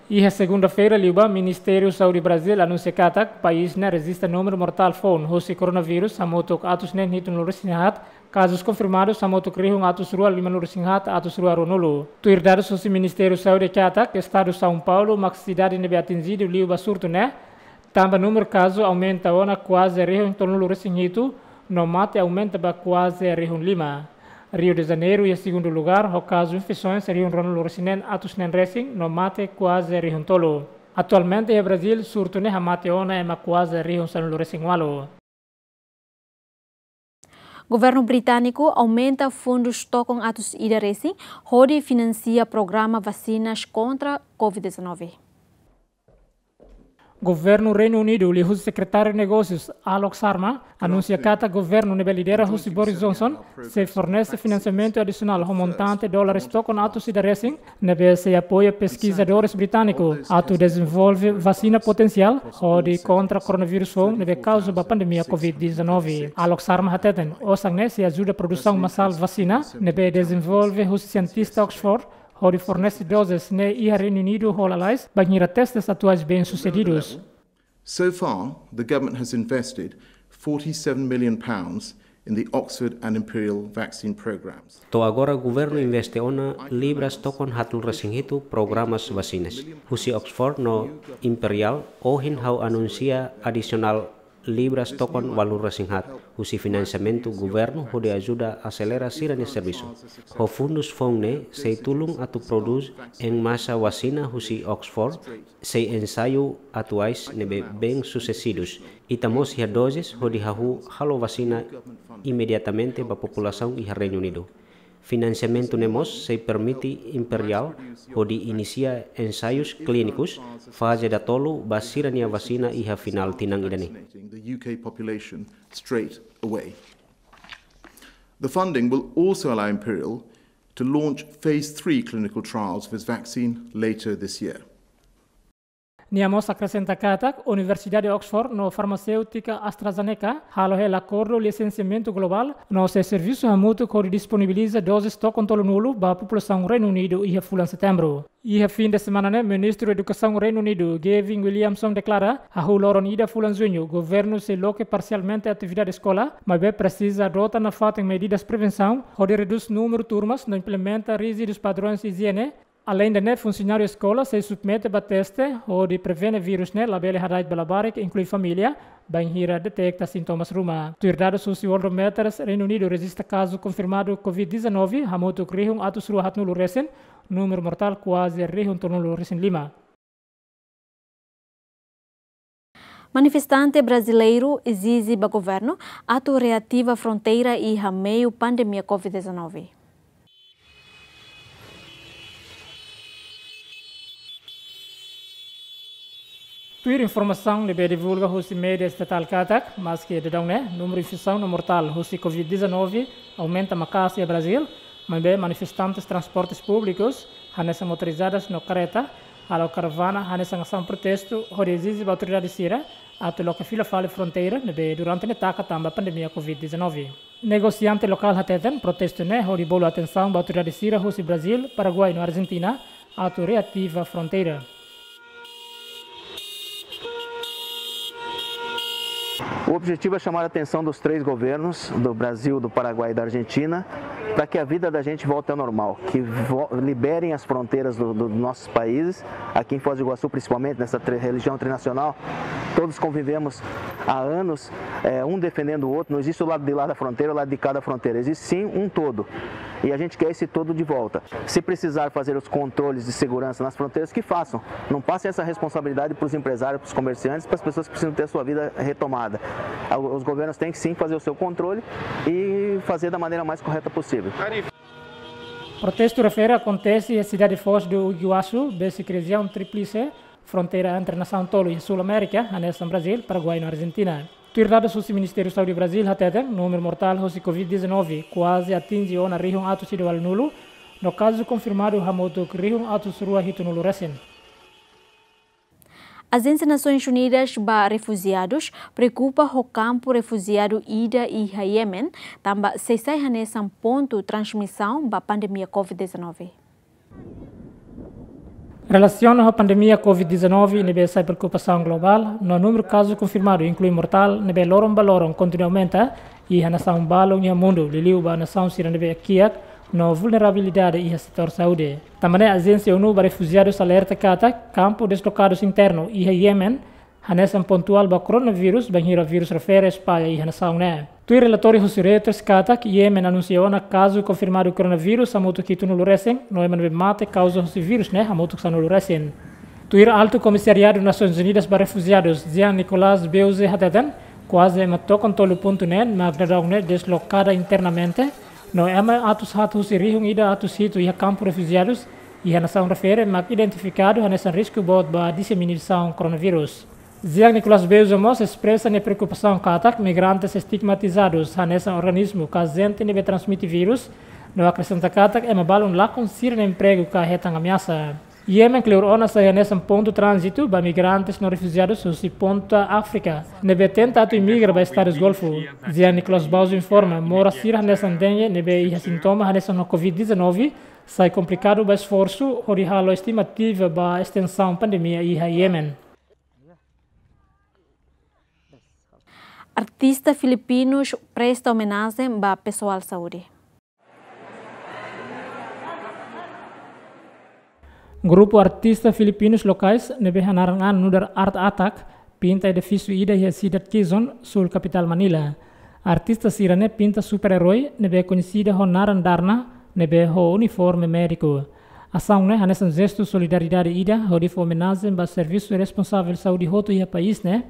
Iha segunda-feira liubá, Ministériu Saúde Brazil anunsia katak país ne'e rejista númeru mortál foun husi koronavírus hamutuk atus neen hitunulu resin haat, kazus konfirmadus hamutuk rihun atus rua limanulu resin haat atus rua ruanulu. Tuir dadus husi Ministériu Saúde katak, estadu São Paulo mak sidade ne'ebé atinjidu liu ba surtu ne'e, tanba númeru kazu aumenta ona kuaze rihun tolunulu resin hitu, no mate aumenta ba kuaze rihun lima. Rio de Janeiro iha segundu lugar, ho kazu infesoens rihun ruanulu resin neen atus neen resin, no mate kuaze rihun tolu. Atualmente iha Brazil, surtu ne'e hamate ona ema kuaze rihun sanulu resin ualu. Governu britániku aumenta fundus tokon atus ida resin hodi finansia programa vasinas kontra covid dezanove. Governu Reinu Unidu, liuhusi Sekretáriu Negósius Alok Sharma, anunsia katak governu ne'ebé lidera husi Boris Johnson sei fornese finansiamentu adisionál ho montante dólares tokon atus ida resin, ne'ebé sei apoia peskizadores britániku atu dezenvolve vasina potensiál hodi kontra koronavírus foun ne'ebé kauza ba pandemia covid dezanove. Alok Sharma hateten, osan ne'e sei ajuda produsaun masál vasina ne'ebé dezenvolve husi sientista Oxford, hodi fornese dozes ne'e iha Reinu Unidu ho lalais, bainhira testes atuais bem-sucedidus. So far, the government has invested forty-seven million pounds in the Oxford and Imperial vaccine programs. To'o agora governu investe ona libras tokon haatnulu resin hitu programas vasinas. Husi Oxford no Imperial, ohin ha'u anunsia adisionál libras tokon ualunulu resin haat husi finansiamentu governu hodi ajuda aselera sira-nia servisu. Ho fundus foun ne'e sei tulun atu prodús en masa vasina husi Oxford, sei ensaiu atuais ne'ebé bem-sucedidus. Ita mós iha dozes hodi hahú halo vasina imediatamente ba populasaun iha Reinu Unidu. Finansiamentu ne'e mós sei permite Imperial hodi inisia ensaius klínikus faze datolu ba sira-nia vasina iha finál tinan ida-ne'e. The U K population straight away. The funding will also allow Imperial to launch phase three clinical trials of its vaccine later this year. Nia mós akresenta katak Universidade Oxford no farmaséutika AstraZeneca halo hela akordu lisensiamentu globál no sei servisu hamutuk hodi disponibiliza dozes tokon tolunulu ba populasaun Reinu Unidu iha fulan Setembru. Iha fin de semana ne'e, Ministru Edukasaun Reinu Unidu, Gavin Williamson, deklara, hahú loron ida fulan Juñu, governu sei loke parsialmente atividade eskola, maibé presiza adota nafatin medidas prevensaun hodi redús númeru turmas no implementa ríjidus padrões ijiene. Aleinde ne'e, funsionáriu eskola sei submete ba teste hodi prevene vírus ne'e labele hada'et ba labarik, inklui família, bainhira deteta sintomas ruma. Tuir dadus husi Worldometers, Reinu Unidu rejista kazu konfirmadu covid dezanove hamutuk rihun atus rua haatnulu resin, númeru mortál kuaze rihun tolunulu resin lima. Manifestante brazileiru ezije ba governu atu reativa fronteira iha meiu pandemia covid dezanove. Tuir informasaun ne'ebé divulga husi média estatál katak, maske daudaun ne'e númeru infesaun no mortál husi covid dezanove aumenta maka'as iha Brazil, maibé manifestantes transportes públikus, hanesan motorizadas no kareta, halo karavana hanesan asaun protestu hodi ezije ba autoridade sira atu loke fila fali fronteira ne'ebé durante ne'e taka tanba pandemia covid dezanove. Negosiante lokál hateten protestu ne'e hodi bolu atensaun ba autoridade sira husi Brazíl, Paraguai no Argentina atu reativa fronteira. O objetivo é chamar a atenção dos três governos, do Brasil, do Paraguai e da Argentina, para que a vida da gente volte ao normal, que vo-, liberem as fronteiras do, do, dos nossos países. Aqui em Foz do Iguaçu, principalmente, nessa tri-, região trinacional, todos convivemos há anos, é, um defendendo o outro, não existe o lado de lá da fronteira, o lado de cá da fronteira, existe sim um todo. E a gente quer esse todo de volta. Se precisar fazer os controles de segurança nas fronteiras, que façam. Não passem essa responsabilidade para os empresários, para os comerciantes, para as pessoas que precisam ter a sua vida retomada. Os governos têm que sim fazer o seu controle e fazer da maneira mais correta possível. Protestu refere akontese iha sidade Foz do Iguaçu, besik rejiaun tríplice, fronteira entre nasaun tolu iha Sul Amérika, hanesan Brazíl, Paraguai no Argentina. Tuir dadus husi Ministériu Saúde Brazíl hateten, númeru mortál husi covid dezanove kuaze atinje ona rihun atus ida ualunulu, no kazu konfirmadu hamutuk rihun atus rua hitunulu resin. Ajénsia Nasoins Unidas ba Refujiadus preokupa ho kampu refujiadu ida iha Yemen, tanba sei sai hanesan pontu transmisaun ba pandemia covid dezanove. Relasiona ho pandemia covid dezanove ne'ebé sai preokupasaun globál, no númeru kazu konfirmadu inklui mortál ne'ebé loron ba loron kontinua aumenta iha nasaun balun iha mundu, liuliu ba nasaun sira ne'ebé kiak no vulnerabilidade iha setór saúde. Tanba ne'e Ajénsia ONU ba Refujiadus alerta katak kampu deslokadus internu iha Yemen hanesan pontuál ba koronavírus, bainhira vírus refere espalla iha nasaun ne'e. Tuir relatóriu husi Reuters katak Yemen anunsia ona kazu konfirmadu koronavírus hamutuk hitunulu resin, no ema ne'ebé mate kauza husi vírus ne'e hamutuk sanulu resin. Tuir Altu Komisariadu Nasoins Unidas ba Refujiadus, Jean-Nicolas Beuze hateten, kuaze ema tokon tolu pontu neen mak daudaun ne'e deslokada internamente, no ema atus haat husi rihun ida atus hitu iha kampu refujiadus iha nasaun refere mak identifikadu hanesan risku boot ba diseminasaun koronavírus. Jean-Nicolas Beuze mós espresa nia preokupasaun katak migrantes estigmatizadus hanesan organismu ka ajente ne'ebé transmite vírus, no akresenta katak ema balun lakon sira-nia empregu ka hetan ameasa. Yemen kleur ona sai hanesan pontu tránzitu ba migrantes no refujiadus husi ponta Áfrika ne'ebé tenta atu imigra ba Estadus Golfu. Jean-Nicolas Beuze informa, moras sira hanesan dengue ne'ebé iha sintoma hanesan ho covid dezanove, sai komplikadu ba esforsu hodi halo estimativa ba estensaun pandemia iha Yemen. Artista filipinus presta omenajen ba pesoál saúde. Grupu artista filipinus lokais ne'ebé hanaran an nu'udar Art Attack pinta edifísiu ida iha sidade Quezon, súl kapitál Manila. Artista sira-ne'e pinta super-eroi ne'ebé koñesida ho naran Darna, ne'ebé ho uniforme médiku. Asaun ne'e hanesan jestu solidariedade ida hodi fó omenajen ba servisu responsavel saúde hotu iha país ne'e,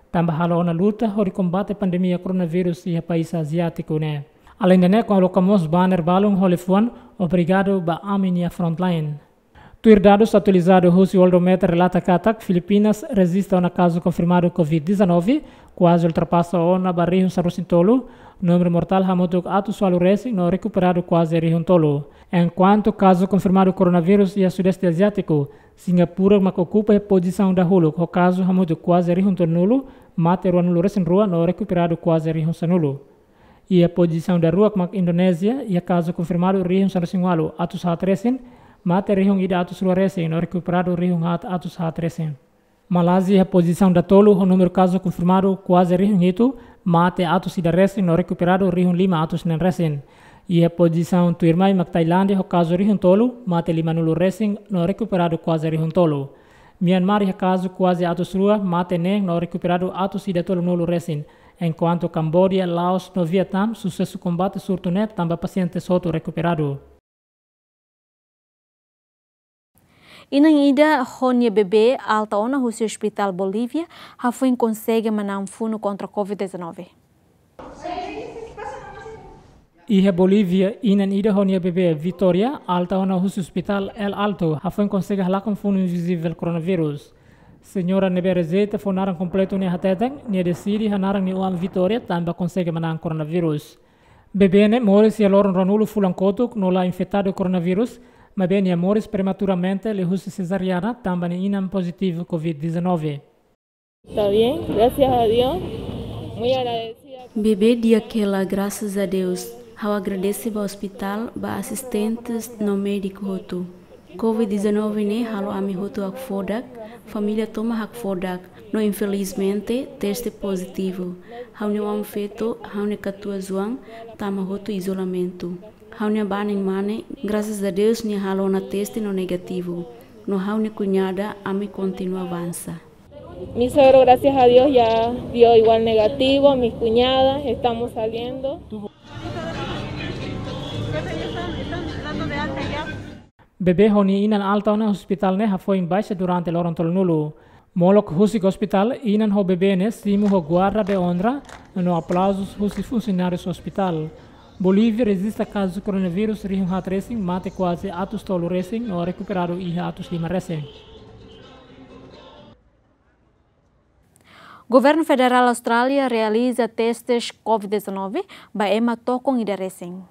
tanba halo ona luta hodi kombate pandemia koronavírus iha país aziátiku ne'e. Aleinde ne'e, koloka mós banner balun ho liafuan "Obrigadu ba Ami-nia Frontline". Tuir dadus atualizadu husi Worldometer relata katak Filipinas rejista ona kazu konfirmadu covid dezanove kuaze ultrapasa ona ba rihun sanulu-resin-tolu, númeru mortál hamutuk atus ualu resin no rekuperadu kuaze rihun tolu. Enkuantu kazu konfirmadu koronavírus iha Sudeste Aziátiku, Singapura mak okupa iha pozisaun dahuluk ho kazu hamutuk kuaze rihun tolunulu, mate ruanulu-resin-rua no rekuperadu kuaze rihun sanulu. Iha pozisaun daruak mak Indonézia, iha kazu konfirmadu rihun sanulu-resin-ualu atus haat resin, mate rihun ida atus rua resin no rekuperadu rihun haat atus haat resin. Malázia iha pozisaun datolu ho númeru kazu konfirmadu kuaze rihun hitu, mate atus ida resin no rekuperadu rihun lima atus neen resin. Iha pozisaun tuirmai mak Tailándia ho kazu rihun tolu, mate limanulu resin no rekuperadu kuaze rihun tolu. Myanmar iha kazu kuaze atus rua, mate neen no rekuperadu atus ida tolunulu resin. Enkuantu Kambodia, Laos no Vietnam susesu kombate surtu ne'e tanba pasiente hotu rekuperadu. Inan ida ho nia bebé alta ona husi Hospitál Bolívia hafoin konsege manán funu kontra covid dezanove. Iha Bolívia, inan ida ho nia bebé Vitória alta ona husi Hospitál El Alto hafoin konsege halakon funu invizivel koronavírus. Señora ne'ebé rejeita fó naran kompletu ne'e hateten, nia deside hanaran nia oan Vitória tanba konsege manán koronavírus. Bebé ne'e moris iha loron ruanulu fulan kotuk no la infetadu koronavírus, maibé nia moris prematuramente liuhusi sezariana tanba nia inan pozitivu covid dezanove. Está bien, gracias a Dios. Muy agradecida. Bebé di'ak hela, grasas a Deus. Ha'u agradese ba ospitál, ba asistentes no médiku hotu. Covid dezanove ne'e halo ami hotu hakfodak, família tomak hakfodak, no infelizmente teste pozitivu. Ha'u-nia oan-feto, ha'u-nia katuas oan, tama hotu izolamentu. Ha'u-nia banin mane, grasas a Deus nia halo ona teste no negativu. No ha'u-nia kuñada, ami kontinua avansa. Mi suegro, gracias a Dios, ya dio igual negativo, mis cuñadas, estamos saliendo. Bebé ho nia inan alta ona ospitál ne'e hafoin baixa durante loron tolunulu. Molok husik ospitál, inan ho bebé ne'e simu ho guarda de onra no aplauzu husi funsionáriu ospitál. Bolívia rejista kazu koronavírus rihun haat resin, mate kuaze atus tolu resin, no rekuperadu iha atus lima resin. Governu Federál Austrália realiza testes covid dezanove ba ema tokon ida resin.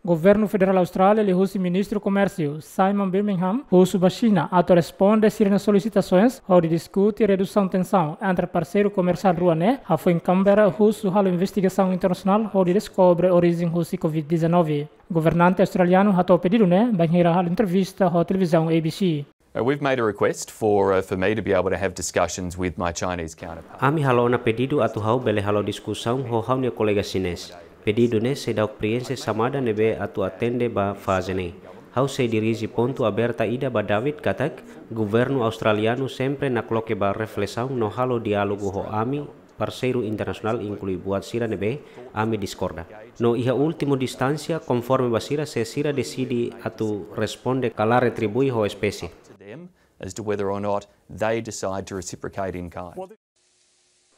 Governu Federál Austrália liuhusi Ministru Komérsiu, Simon Birmingham, husu ba Xina atu responde sira-nia solisitasoens hodi diskute redusaun tensaun entre parseiru komersiál rua ne'e, hafoin Canberra husu halo investigasaun internasionál hodi deskobre orijen husi covid dezanove. Governante australianu hato'o pedidu ne'e bainhira halo entrevista ho televizaun A B C. Uh, we've made a request for, uh, for me to be able to have discussions with my Chinese counterpart. Ami halo ona pedidu atu ha'u bele halo diskusaun ho ha'u-nia kolega Xinés. Pedidu ne'e seidauk prienxe xamada ne'ebé atu atende ba faze ne'e. Ha'u sei dirije pontu aberta ida ba David katak, governu australianu sempre nakloke ba reflesaun no halo diálogu ho ami, parseiru internasionál inklui buat sira ne'ebé ami diskorda. No iha últimu instánsia, konforme ba sira, se sira deside atu responde ka la retribui ho espésie. To them as to whether or not they decide to reciprocate in kind.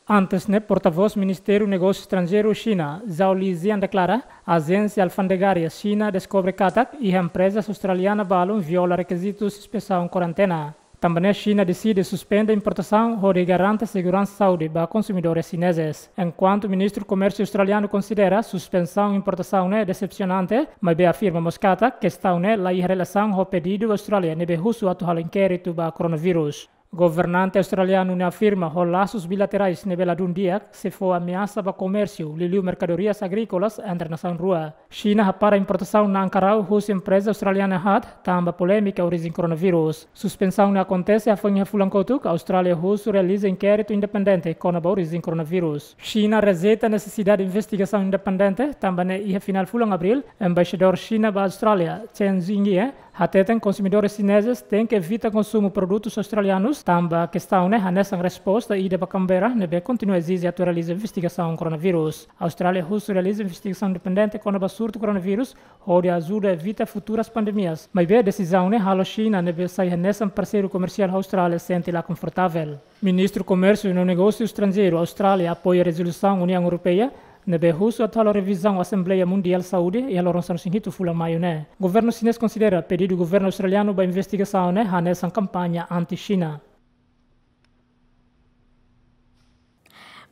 Antes ne'e, portavós Ministériu Negósiu Estranjeiru Xina, Zhao Lijian deklara, ajénsia alfandegária Xina deskobre katak iha empreza australiana balun viola rekizitus inspesaun kuarentena. Tanba ne'e Xina deside suspende importasaun hodi garante seguransa saúde ba konsumidores xinezes. Enkuantu Ministru Komérsiu australianu konsidera suspensaun importasaun ne'e desepsionante, maibé afirma mós katak kestaun ne'e la iha relasaun ho pedidu Austrália ne'ebé husu atu halo inkéritu ba koronavírus. Governante australianu ne'e afirma ho lasus bilaterais ne'ebé ladún di'ak sei fó ameasa ba komérsiu liuliu merkadorias agríkolas entre nasaun rua. Xina hapara importasaun na'an karau husi empreza australiana haat tanba polémika orijen koronavírus. Suspensaun ne'e akontese hafoin iha fulan kotuk, Austrália husu realiza inkéritu independente kona-ba orijen koronavírus. Xina rejeita nesesidade investigasaun independente, tanba ne'e iha finál fulan Abríl, embaixadór Xina ba Austrália, Chen Jingye, hateten konsumidores xinezes tenke evita konsumu produtus australianus, tanba kestaun ne'e hanesan resposta ida ba Canberra ne'ebé kontinua ezije atu realiza investigasaun koronavírus. Austrália husu realiza investigasaun independente kona-ba surtu koronavírus, hodi ajuda evita futuras pandemias. Maibé desizaun ne'e halo Xina ne'ebé sai hanesan parseiru komersiál Austrália sente la konfortavel. Ministru Komérsiu no Negósiu Estranjeiru Austrália apoia rezolusaun Uniaun Europeia ne'ebé husu atu halo revizaun Asembleia Mundiál Saúde iha loron sanulu-resin-hitu fulan Maiu ne'e. Governu xinés konsidera pedidu governu australianu ba investigasaun ne'e hanesan kampaña anti-Xina.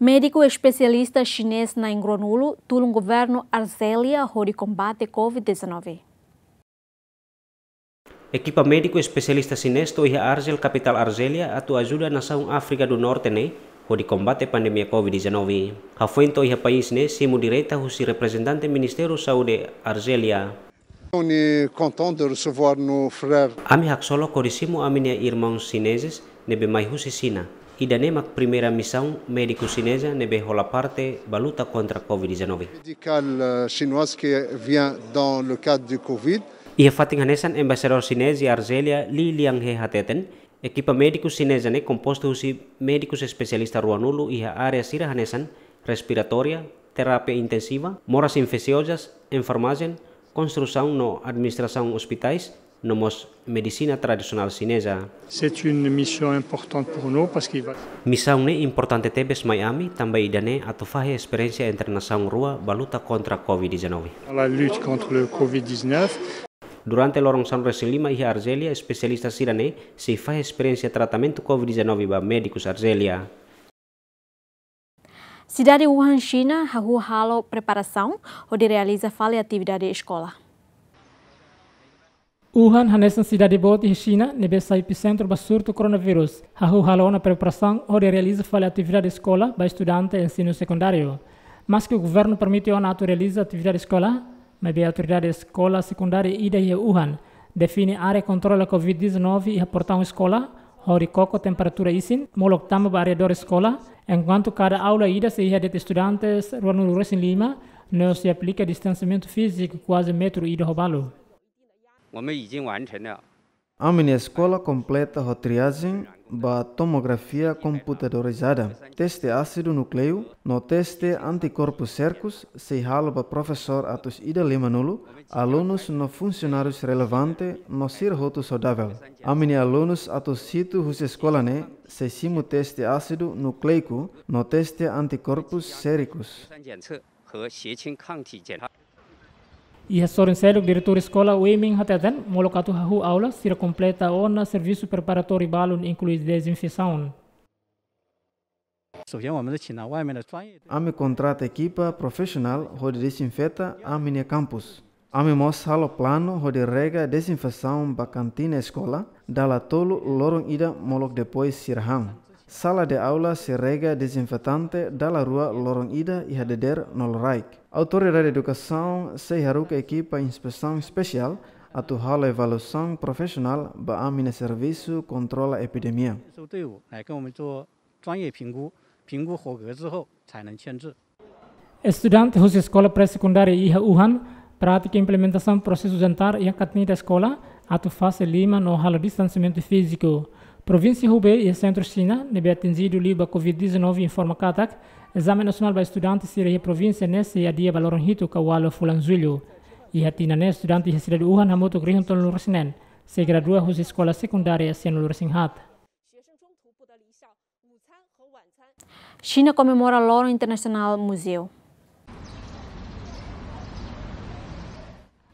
Médiku espesialista xinés na'in ruanulu tulun governu Arzélia hodi kombate covid dezanove. Ekipa médiku espesialista xinés to'o iha Argel, kapitál Arzélia, atu ajuda nasaun Áfrika do Norte ne'e hodi kombate pandemia covid dezanove. Hafoin to'o iha país ne'e simu direta husi reprezentante Ministériu Saúde Arzélia. On est content de recevoir nos frères. Ami haksolok hodi simu ami-nia irmaun xinezes ne'ebé mai husi Xina. Ida-ne'e mak primeira misaun médiku xineza ne'ebé hola parte ba luta kontra covid dezanove. Médicale, euh, chinoise qui vient dans le cadre du covid. Iha fatin hanesan, embaixadór xinés iha Arzélia, Li Lianghe hateten, ekipa médiku xineza ne'e kompostu husi médikus espesialista ruanulu iha área sira hanesan respiratória, terapia intensiva, moras infesiozas, enfermajen, konstrusaun no administrasaun ospitais, no mós medisina tradisionál xineza. C'est une mission importante pour nous parce que va Misaun ne'e importante tebes mai ami, tanba ida-ne'e atu fahe esperiénsia entre nasaun rua ba luta kontra covid dezanove. La lutte contre le covid dix-neuf. Durante loron sanulu-resin-lima iha Arzélia, espesialista sira-ne'e sei fahe esperiénsia tratamentu covid dezanove ba médikus Arzélia. Sidade Wuhan, Xina, hahú halo preparasaun hodi realiza fali atividade eskola. Wuhan hanesan sidade boot iha Xina ne'ebé sai episentru ba surtu koronavírus, hahú halo ona preparasaun hodi realiza fali atividade eskola ba estudante ensinu sekundáriu. Maske governu permite ona atu realiza atividade eskola, maibé autoridade eskola sekundária ida iha Wuhan define área kontrola covid dezanove iha portaun eskola, hodi koko temperatura isin, molok tama ba arredór eskola, enkuantu kada aula ida sei iha de'it estudantes ruanulu resin lima, no sei aplika distansiamentu fíziku kuaze metru ida ho balu. 我们已经完成了 Ami-nia eskola kompleta ho triajen ba tomografia komputadorizada, teste ásidu núkleiku, no teste antikorpu sérikus, sei halo ba profesór atus ida limanulu, alunus no funsionárius relevante, no sira hotu saudavel. Ami-nia alunus atus hitu husi eskola ne'e sei simu teste ásidu núkleiku no teste antikorpu sérikus. 三检测和血清抗体检查。 Iha sorin seluk, diretór eskola Wei Ming hateten, molok atu hahú aula, sira kompleta ona servisu preparatóriu balun, inklui dezinfesaun. 首先，我们是请了外面的专业 Ami kontrata ekipa profisionál hodi dezinfeta ami-nia kampus. Ami mós halo planu hodi rega dezinfesaun ba kantina eskola, dala tolu loron ida molok depois sira han. Sala de aula sei rega dezinfetante dala rua loron ida iha dadeer no loraik. Autoridade edukasaun sei haruka ekipa inspesaun espesiál atu halo avaliasaun profisionál ba ami-nia servisu kontrola epidemia. 收队伍来跟我们做专业评估，评估合格之后才能签字。 Estudante husi eskola pré-sekundária iha Wuhan pratika implementasaun prosesu jantar iha kantina eskola, atu fase liman no halo distansiamentu fíziku. Provínsia Hubei iha sentru Xina ne'ebé atinjidu liu ba covid dezanove informa katak ezame nasionál ba estudante sira iha provínsia ne'e sei adia ba loron hitu ka ualu fulan Jullu. Iha tinan ne'e estudante iha sidade Wuhan hamutuk rihun tolunulu resin neen, sei gradua husi eskola sekundária sianulu resin haat. Xina komemora Loron Internasionál Muzeu.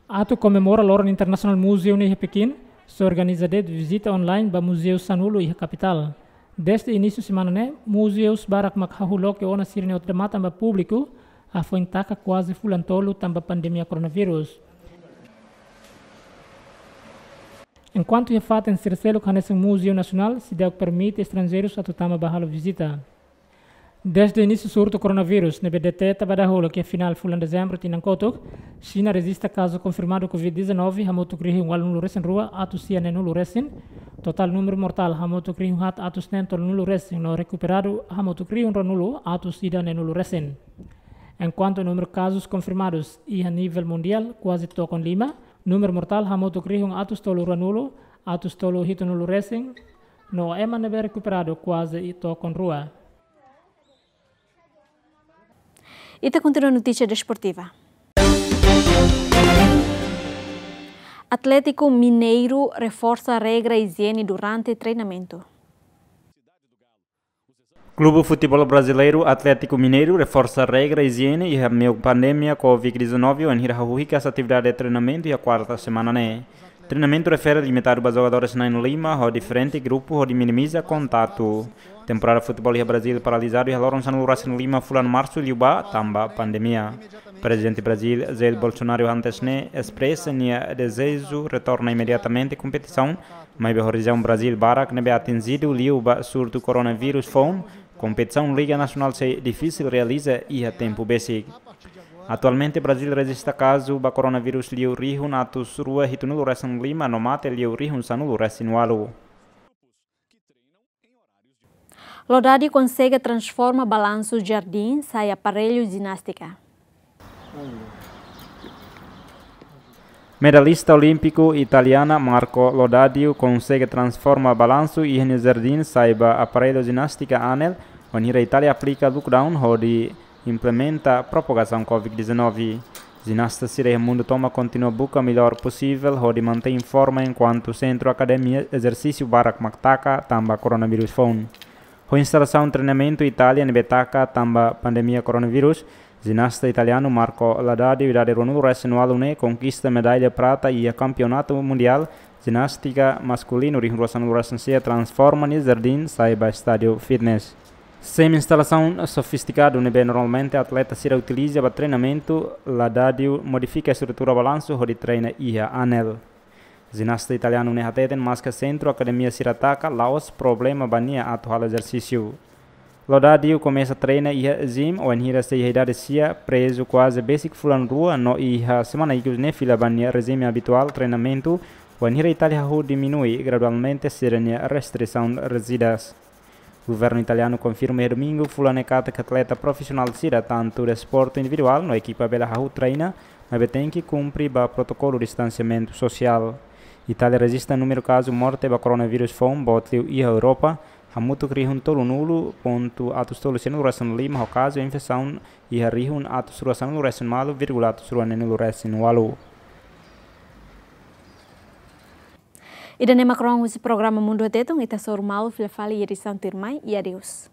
Atu komemora Loron Internasionál Muzeu ne'e iha Pekin, sei organiza de'it vizita online ba muzeu sanulu iha kapitál. Dezde inísiu semana ne'e, muzeus barak mak hahú loke ona sira-nia odamatan ba públiku, hafoin taka kuaze fulan tolu tanba pandemia koronavírus. Enkuantu iha fatin sira seluk hanesan Muzeu Nasionál seidauk permite estranjeirus atu tama ba halo vizita. Dezde inísiu surtu koronavírus ne'ebé deteta ba dahuluk iha finál fulan Dezembru tinan kotuk, Xina rejista kazu konfirmadu covid dezanove hamutuk rihun ualunulu resin rua atus sia neenulu resin, totál númeru mortál hamutuk rihun haat atus neen tolunulu resin no rekuperadu hamutuk rihun ruanulu atus ida neenulu resin. Enkuantu númeru kazus konfirmadus iha nivel mundiál kuaze tokon lima, númeru mortál hamutuk rihun atus tolu ruanulu atus tolu hitunulu resin, no ema ne'ebé rekuperadu kuaze tokon rua. Ita kontinua notísia desportiva. Atlético Mineiro reforça regra ijiene durante treinamentu. Klube Futeból Brasileiru Atlético Mineiro reforsa regra ijiene iha meiu pandemia covid dezanove, wainhira hahú hikas atividade treinamentu iha kuarta semana ne'e. Treinamentu refere limitadu ba jogadores na'in lima ho diferente grupu hodi minimiza kontatu. Temporada futeból iha Brazíl paralizadu iha loron sanulu resin lima fulan Marsu liubá tanba pandemia. Prezidente Brazíl, Jair Bolsonaro, antes ne'e espresa nia dezeju retorna imediatamente kompetisaun, maibé ho rejiaun Brazíl barak ne'ebé atinjidu liu ba surtu koronavírus foun, kompetisaun Liga Nasionál sei difisil realiza iha tempu besik. Atualmente, Brazíl rejista kazu ba koronavírus liu rihun atus rua hitunulu resin lima no mate liu rihun sanulu resin ualu. Lodadi konsege transforma balansu jardín sai aparellu jinástika. Medalista olímpiku italiana Marco Lodadi konsege transforma balansu iha nia jardín sai ba aparellu jinástika anel, wainhira Itália aplika lockdown hodi implementa propagasaun covid dezanove. Jinasta sira iha mundu tomak kontinua buka melhor posivel hodi mantein forma enkuantu sentru akademia ezersísiu barak mak taka tanba koronavírus foun. Ho instalasaun treinamentu Itália ne'ebé taka tanba pandemia koronavírus, jinasta italianu Marco Lodadi, idade ruanulu resin ualu ne'e, konkista medalla prata iha Kampeonatu Mundiál Jinástika Maskulinu rihun rua sanulu resin sia, transforma nia jardín sai ba estádiu fitness. Semi-instalasaun sofistikadu ne'ebé normalmente atleta sira utiliza ba treinamentu, Lodadi modifika estrutura balansu hodi treina iha anel. Jinasta italianu ne'e hateten maske sentru akademia sira taka la'ós problema ba nia atu halo ezersísiu. Lodadi komesa treina iha gym wainhira sei iha idade sia, prezu kuaze besik fulan rua no iha semana ikus ne'e fila ba nia rejime abituál treinamentu, wainhira Itália hahú diminui gradualmente sira-nia restrisaun rijidas. Governu italianu konfirma iha domingu fulan ne'e katak atleta profisionál sira, tantu desportu individuál no ekipa bele hahú treina, maibé tenke kumpre ba protokolu distansiamentu sosiál. Itália rejista númeru kazu morte ba koronavírus foun boot liu iha Europa, hamutuk rihun tolunulu pontu atus tolu sanulu resin lima ho kazu infesaun iha rihun atus rua sanulu resin malu vírgula atus rua neenulu resin walu. Ida-ne'e mak rohan husi programa Mundu Tetun, ita hasoru malu fila fali iha edisaun tuirmai, i adeus.